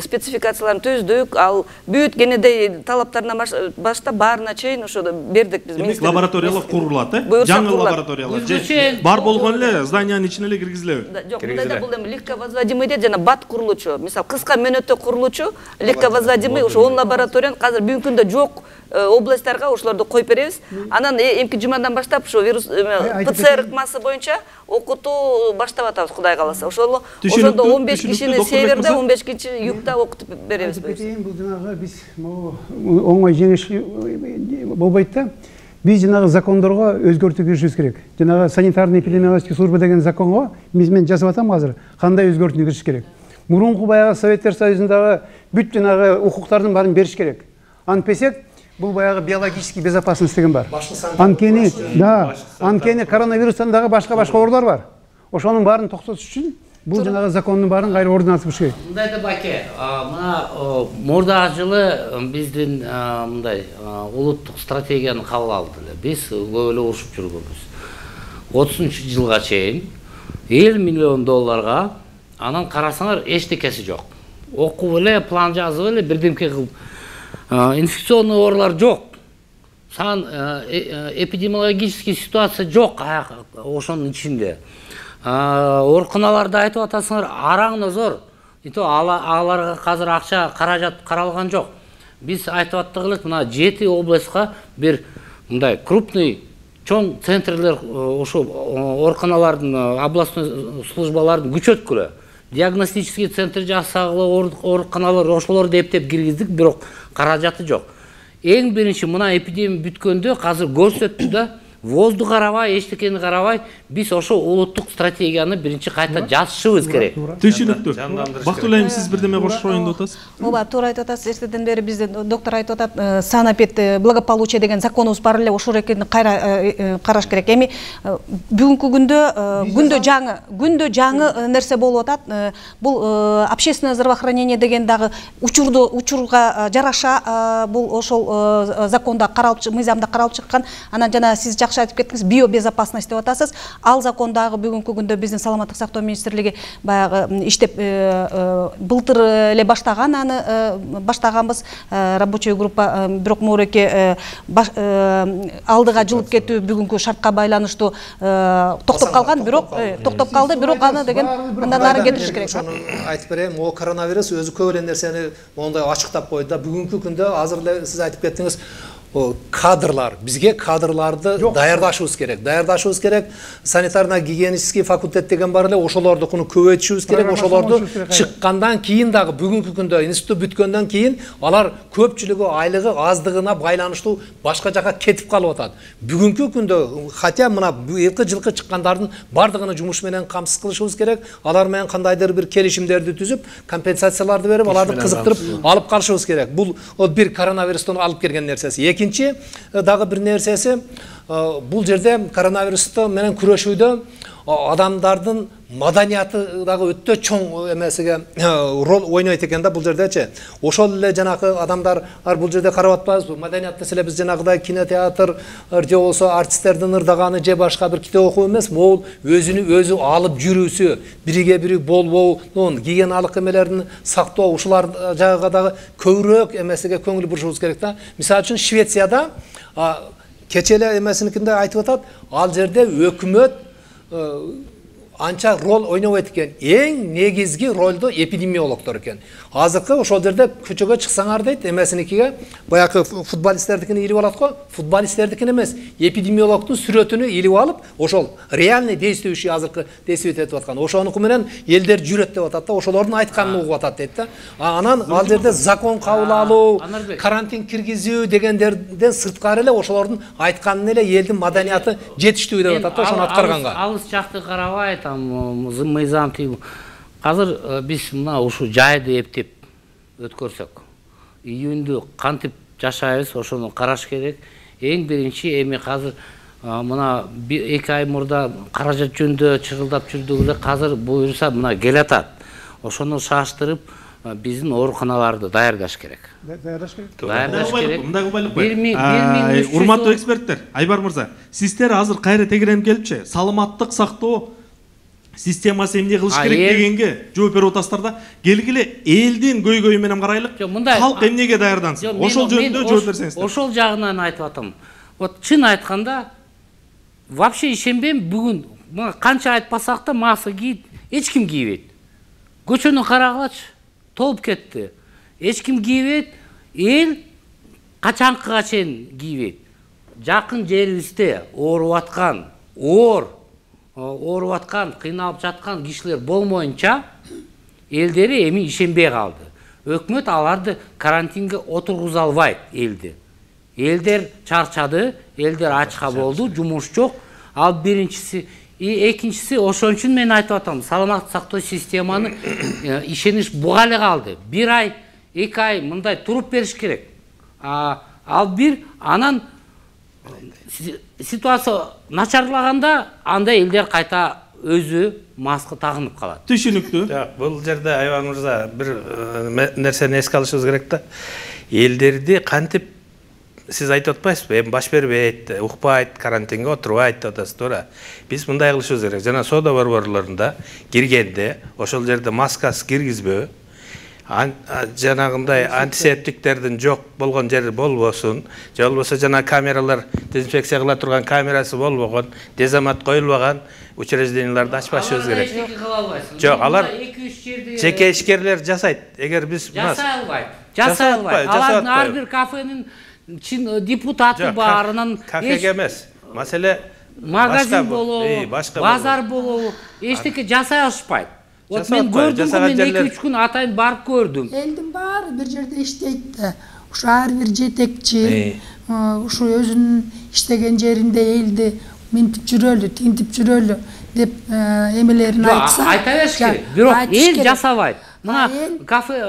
S5: Спецификацияларын түздүк, ал бүт кенедей талаптарына баштап баарына чейин ошо бердик биз.
S8: Демек лабораториялар курулат, э? Жаңы лабораториялар. Бар болгон эле зданиянын ичине эле киргизилеби?
S5: Жок, мындайда бул эми легковозводимый дейт, жана бат курулуучу. Мисал кыска мөөнөттө курулуучу легковозводимый ошо он лабораторияны азыр бүгүнкү күндө жок областтарга ошолорду коюп беребиз. Анан эмки жумадан баштап ушу вирус ПЦР ыкмасы боюнча окутуу баштап атабыз, Кудай кааласа. Ошол ошондо он беш кишини северде, он беш киши югда окутуп беребиз.
S4: Бул жанагы биз оңой жеңиш болбойт да. Биз жанагы закондорго өзгөртүү киришибиз керек. Жанагы санитарный эпидемиологический служба деген законго биз мен жазып атам азыр. Кандай өзгөртүү кириш керек? Мурунку баягы Советтер Союзундагы бүт жанагы укуктардын баарын бериш керек. Антпесек бул баягы биологический безопасность деген бар. Анткени, да, анткени коронавирустан дагы башка-башка оорулар бар. Ошонун баарын токтотуш үчүн бул жанагы закондун баарын кайра ордуна алып керек.
S7: Мындайда байке, мына мурдагы жылы биздин мындай улуттук стратегияны кабыл алды. Биз көп эле урушуп жүргөнбүз. отузунчу жылга чейин элүү миллион долларга, анан карасаңар эчтекеси жок. Окуп эле, план жазып эле, бирдемке кылып инфекционный оорулар жок. Сан эпидемиологический ситуация жок ошонун ичинде. Ооруканаларды айтып атасыңар, араңнозор. Ито аларга азыр акча каражат каралган жок. Биз айтып аттык элек, мына жети областка бир мындай крупный чоң центрлер ошо ооруканалардын, областной службалардын күчөткүлө. Диагностический центр жасагылы, ооруканалар ошолорду эптеп киргиздик, бирок каражаты жок. Эң биринчи мына эпидемия бүткөндө азыр көрсөттү да, воздух карабай, эчтекени карабай, биз ошо улуттук стратегияны биринчи кайта жазышыбыз керек.
S8: Түшүнүктүү. Бактылуу айым, сиз бирдеме кошоюн деп атасыз?
S1: Ооба, туура айтып атасыз. Эртеден бери биздин доктор айтып атат, санэпид благополучие деген законубуз бар эле, ошол экенин кайра караш керек. Эми бүгүнкү күндө күндө жаңы, күндө жаңы нерсе болуп атат. Бул общественное здравоохранение деген дагы учурду учурга жараша бул ошол законда каралып, мыйзамда каралып чыккан. Анан жана сиз жакшы айтып кеттиңиз, биобезопасность деп атасыз. Ал закондагы бүгүнкү күндө биздин саламаттык сактоо министрлиги баягы иштеп былтыр эле баштаган, аны баштаганбыз рабочий группа, бирок моореке алдыга жылып кетүү бүгүнкү шартка байланыштуу токтоп калган, бирок токтоп калды, бирок аны деген андан ары кетириш керек.
S6: Айтып берейин, могу коронавирус өзү көп эле нерсени мондай ачыктап койду да. Бүгүнкү күндө азыр эле сиз айтып кеттиңиз, кадрлар, бизге кадрларды даярдашыбыз керек. Даярдашыбыз керек. Санитарно-гигиенический факультет деген бар эле, ошолордукуну көбөйтүшүбүз керек. Ошолорду чыккандан кийин дагы бүгүнкү күндө институт бүткөндөн кийин алар көпчүлүгү айлыгы аздыгына байланыштуу башка жака кетип калып атат. Бүгүнкү күндө хотя мына элки жылкы чыккандардын бардыгын жумуш менен камсыз кылышыбыз керек. Алар менен кандайдыр бир келишимдерди түзүп, компенсацияларды берип, аларды кызыктырып алып калышыбыз керек. Бул бир коронавирустан алып келген нерсеси. Экинчи дагы бир нерсеси, бул жерде коронавирусту менен күрөшүүдө адамдардын маданияты дагы өтө чоң эмесиге роль ойнойт экен да бул жердечи. Ошол эле жанагы адамдар бул жерде карап атпайбызбы? Маданият десе эле биз жанагыдай кинотеатр же болсо артисттердин ырдаганы же башка бир китеп окуу эмес, могул өзүнү өзү алып жүрүүсү, бириге бири болбоо, гигиеналык эмелерин сактоо, ушулар жагыга дагы көбүрөөк эмесиге көңүл бурушубуз керек да. Мисалы үчүн Швецияда кече эле эмесиникинде айтып атат, ал жерде өкмөт анча роль ойнобойт экен. Эң негизги ролду эпидемиологдор экен. Азыркы ошол жерде көчөгө чыксаңар дейт, эмесиникиге баягы футболисттердикини илип алат го, футболисттердикин эмес, эпидемиологдун сүрөтүнү илип алып, ошол реальный действующий азыркы действовать этип аткан. Ошонуку менен элдер жүрөт деп атат да, ошолордун айтканын угуп атат дейт да. Анан ал жерде закон кабыл алуу, карантин киргизүү дегендерден сырткары эле ошолордун айтканын эле элдин маданияты жетиштүү деп атат да, ошону аткарганга.
S7: Алыс жакты карабай, там мыйзам тип. Азыр биз мына ушу жайды эптеп өткөрсөк, июндү кантип жашайбыз, ошону караш керек. Эң биринчи эми азыр мына эки ай мурда каражат жөнүндө чырылдап жүрдүк эле, азыр буюрса мына келатат. Ошону шаштырып биздин ооруканаларды даярдаш керек.
S4: Даярдаш керек.
S7: Даярдаш керек.
S8: Мындагы байлык. Урматтуу эксперттер, Айбар мырза, сиздер азыр кайра тегеренип келипчи, саламаттык сактоо системасы эмне кылыш керек дегенге жооп берип атасыздар да. Келгиле элдин көйгөйү менен карайлык. Халк эмнеге даярдансын? Ошол жөнүндө жооп берсеңиздер.
S7: Ошол жагынан айтып атам. Вот чын айтканда вообще ишенбейм, бүгүн канча айтпасак да маска кийип эч ким кийбейт. Көчөнү карагылачы, толуп кетти. Эч ким кийбейт, эл качанкыга чейин кийбейт. Жакын жерибизде ооруп аткан, оор ооруп аткан, кыйналып жаткан кишилер болмоюнча элдери эми ишенбей калды. Өкмөт аларды карантинге отургуза албайт элди. Элдер чарчады, элдер ачка болду, жумуш жок. Ал биринчиси, и экинчиси ошон үчүн мен айтып атам, саламаттык сактоо системаны ишениш буга эле калды. Бир ай, эки ай мындай туруп бериш керек. Ал бир анан ситуация начарлаганда анда элдер кайта өзү маска тагынып калат.
S8: Түшүнүктүү.
S2: Жок, бул жерде Айбар мырза бир нерсени эске алышыбыз керек да. Элдерди кантип сиз айтып атпайсызбы? Эми баш бербейт, укпайт, карантинге отурбайт деп атасыз, туура. Биз мындай кылышыбыз керек. Жана соода борборлорунда киргенде ошол жерде маскасы киргизбөө, жанагындай антисептиктердин жок болгон жери болбосун, же болбосо жана камералар дезинфекция кыла турган камерасы болбогон, дезамат коюлбаган учрежденияларды ачпашыбыз керек. Жок, алар жеке ишкерлер жасайт. Эгер биз
S7: жасай албайт. Жасай албайт. Алардын ар бир кафенин депутаты бар, анан
S2: кафеге эмес. Маселе
S7: магазин болобу, базар болобу, эчтеке жасай алышпайт. Вот мен көрдүм, мен эки үч күн атайын барып көрдүм.
S3: Элдин баары бир жерде иштейт да. Ушу ар бир жетекчи, ушу өзүнүн иштеген жеринде элди минтип жүрөлү, тинтип жүрөлү деп эмелерин айтса.
S7: Айта бериш керек. Бирок эл жасабайт. Мына кафе,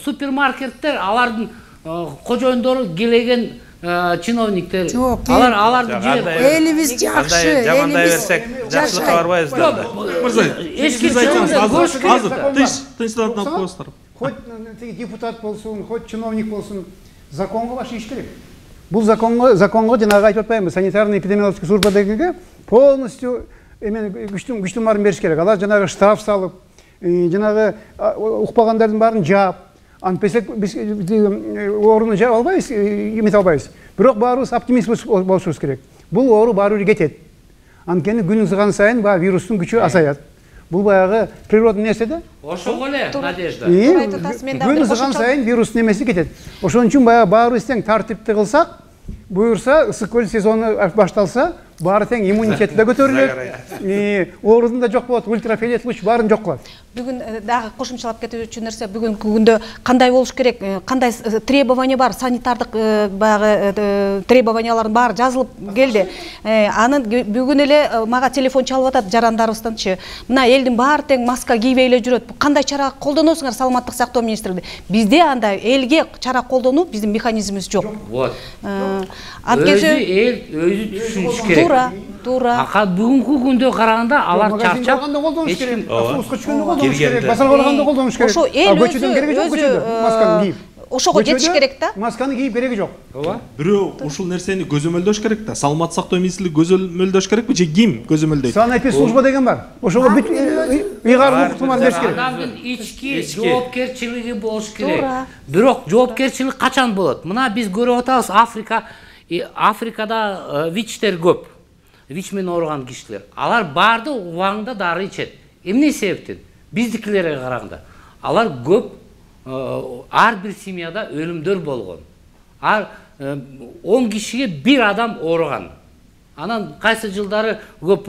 S7: супермаркеттер алардын кожоюндору келеген чиновниктер, алар аларды жеп,
S3: элибиз жакшы,
S2: жамандай берсек, жакшылыкка барбайбыз да.
S8: Мырза, эске айтсаңыз, азыр тынч тынчтанып коесуздар.
S4: Хоть депутат болсун, хоть чиновник болсун, законго баш иш керек. Бул законго, законго жанагы айтып атпаймынбы, санитарный эпидемиологический служба дегенге полностью эмен күчтүн күчтүн баарын бериш керек. Алар жанагы штраф салып, жанагы укпагандардын баарын жаап, антпесек биз ооруну жаап албайбыз, эмете албайбыз. Бирок баарыбыз оптимист болушубуз керек. Бул оору баары бир кетет. Анткени күн ызган сайын баягы вирустун күчү азаят. Бул баягы природный нерсе да.
S7: Ошого эле надежда.
S4: Күн ызган сайын вирустун немеси кетет. Ошон үчүн баягы баарыбыз тең тартипти кылсак, буюрса ысык көл сезону башталса, баары тең иммунитети да көтөрүлөт. Оорудун да жок болот, ультрафиолет луч баарын жок кылат.
S1: Бүгүн дагы кошумчалап кетүү үчүн нерсе, бүгүнкү күндө кандай болуш керек, кандай требование бар, санитардык баягы требованиялардын баары жазылып келди. Анын бүгүн эле мага телефон чалып атат жарандарыбызданчы. Мына элдин баары тең маска кийбей эле жүрөт. Кандай чара колдоносуңар саламаттык сактоо министрлиги? Бизде андай элге чара колдонуу биздин механизмибиз жок.
S7: Вот. Өзү эл өзү түшүнүш керек.
S1: Туура, туура.
S7: Ака бүгүнкү күндө караганда алар чарчап,
S4: эч ким автобуска чыкканда колдонуш керек, базарга барганда колдонуш керек.
S1: Ошо эл
S4: көчөдөн кереги жок, көчөдө масканы кийип.
S1: Ошого жетиш керек да.
S4: Масканы кийип кереги жок.
S8: Ооба. Бирөө ушул нерсени көзөмөлдөш керек да. Саламаттык сактоо министрлиги көзөмөлдөш керекпи же ким көзөмөлдөйт?
S4: Санэпид служба деген бар. Ошого бүт ыйгарым укуктумар бериш керек.
S7: Адамдын ички жоопкерчилиги болуш керек. Бирок жоопкерчилик качан болот? Мына биз көрүп атабыз, Африка Африкада вичтер көп. вич менен ооруган кишилер. Алар баардыгы убагында дары ичет. Эмне себептен? Биздикилерге караганда. Алар көп, ар бир семьяда өлүмдөр болгон. Ар он кишиге бир адам ооруган. Анан кайсы жылдары көп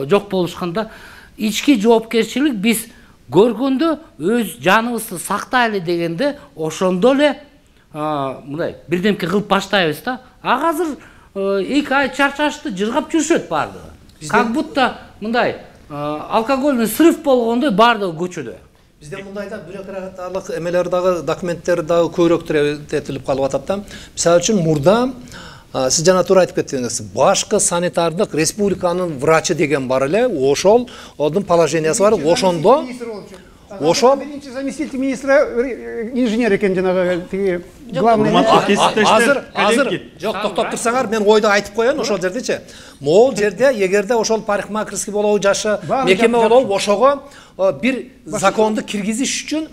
S7: жок болушканда ички жоопкерчилик биз көргөндө өз жаныбызды сактайлы дегенде ошондо эле мындай бирдемке кылып баштайбыз да. А азыр эки ай чарчашты жыргап жүрүшөт баардыгы. Как будто мындай алкогольный срыв болгондой баардыгы көчөдө.
S6: Бизде мындайда бюрократиялык эмелер дагы, документтер дагы көбүрөөк этилип калып атат да. Мисалы үчүн мурда сиз жана туура айтып кеттиңиз, башкы санитардык республиканын врачы деген бар эле, ошол одун положениясы бар, ошондо ошол
S4: биринчи заместитель министра инженер экен, жанагы тиги главный.
S6: Азыр азыр жок, токтоп турсаңар, мен ойду айтып коеюн ошол жердечи. Могул жерде эгерде ошол парикмахерский болобу, жашы мекеме болобу, ошого бир законду киргизиш үчүн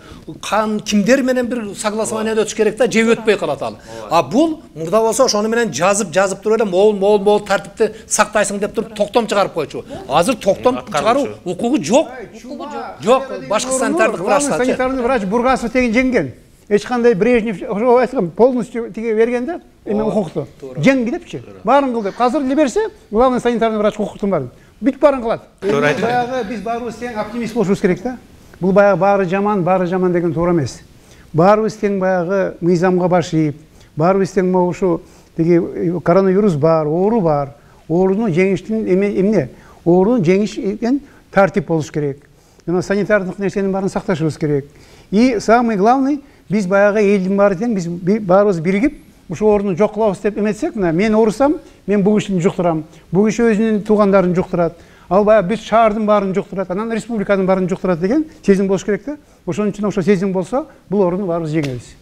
S6: кимдер менен бир согласованиядан өтүш керек да, же өтпөй калат ал. А бул мурда болсо ошону менен жазып жазып туруп эле могул могул могул тартипти сактайсың деп туруп токтом чыгарып койчу. Азыр токтом чыгаруу укугу жок. Жок, башкы санитардык врачтар.
S4: Санитарный врач Бургасов деген жеңген. Эч кандай Брежнев ошо айткан полностью тиге бергенде эме укукту. Жеңги депчи. Баарын кыл деп. Азыр эле берсе, главный санитарный врач укуктун баарын бүт баарын кылат. Баягы биз баарыбыз тең оптимист болушубуз керек да. Бул баягы баары жаман, баары жаман деген туура эмес. Баарыбыз тең баягы мыйзамга баш ийип, баарыбыз тең могу ушу тиги коронавирус бар, оору бар. Оорууну жеңиштин эмне? Оорууну жеңишкен тартип болуш керек. Жана санитардык нерсенин баарын сакташыбыз керек. И самый главный, биз баягы элдин баары тең, биз баарыбыз биригип ушу ооруну жок кылабыз деп эметсек, мына мен оорусам, мен бул кишини жуктурам. Бул киши өзүнүн туугандарын жуктурат. Ал баягы бүт шаардын баарын жуктурат, анан республиканын баарын жуктурат деген сезим болуш керек да. Ошон үчүн ошо сезим болсо, бул ооруну баарыбыз жеңебиз.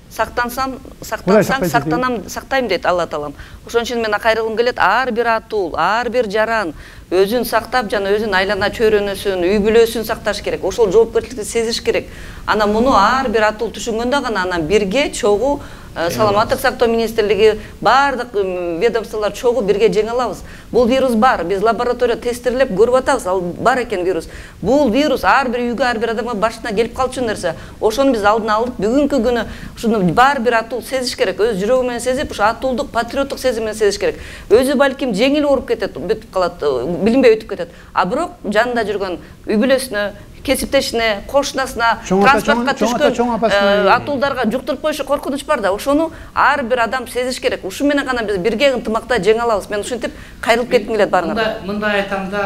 S5: Сактансам, сактансаң, сактанам, сактайм дейт Алла Таалам. Ошон үчүн мен кайрылгым келет, ар бир атул, ар бир жаран өзүн сактап, жана өзүнүн айлана чөйрөнөсүн, үй бүлөсүн сакташ керек. Ошол жоопкерчиликти сезиш керек. Анан муну ар бир атул түшүнгөндө гана анан бирге чогуу саламаттык сактоо министрлиги, баардык ведомстволор чогуу бирге жеңе алабыз. Бул вирус бар, биз лаборатория тестирлеп көрүп атабыз, ал бар экен вирус. Бул вирус ар бир үйгө, ар бир адамга башына келип калчу нерсе. Ошону биз алдын алып, бүгүнкү күнү ушуну бар бир атул сезиш керек. Өз жүрөгү менен сезип, ушу атуулдук, патриоттук сезим менен сезиш керек. Өзү балким жеңил ооруп кетет, бүтүп калат, билинбей өтүп кетет. А бирок жанында жүргөн үй бүлөсүнө, кесиптешине, кошунасына, транспортко түшкөн атуулдарга жуктуруп коюшу коркунуч бар да. Ошону ар бир адам сезиш керек. Ушу менен гана биз бирге ынтымакта жеңе алабыз. Мен ушинтип кайрылып кетким келет баарыңарга.
S7: Мындай айтам да,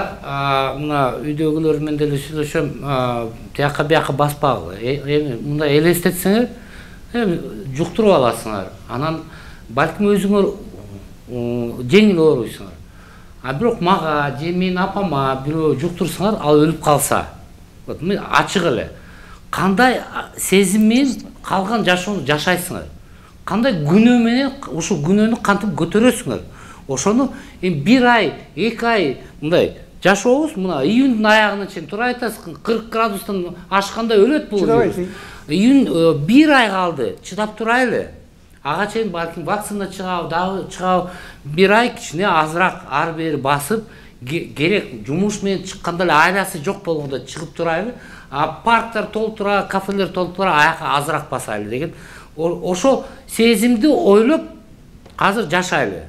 S7: мына үйдөгүлөр менен деле сүйлөшөм, тияка бияка баспагыла. Мындай элестетсеңер, жуктуруп аласыңар. Анан балким өзүңөр жеңил ооруйсуңар. А бирок мага же менин апама бирөө жуктурсаңар, ал өлүп калса, ачык эле кандай сезим менен калган жашоону жашайсыңар, кандай күнөө менен ушул күнөөнү кантип көтөрөсүңөр. Ошону эми бир ай, эки ай мындай жашообуз, мына июндун аягына чейин туура айтасыз, кырк градустан ашканда өлөт бул вирус. Июнь бир ай калды, чыдап турайлы. Ага чейин балким вакцина чыгабы, дагы чыгабы, бир ай кичине азыраак ар бери басып, керек жумуш менен чыкканда эле айласы жок болгондо чыгып турайлы, а парктар толуп тура, кафелер толуп тура, аяка азыраак басайлы деген ошол сезимди ойлоп азыр жашайлы.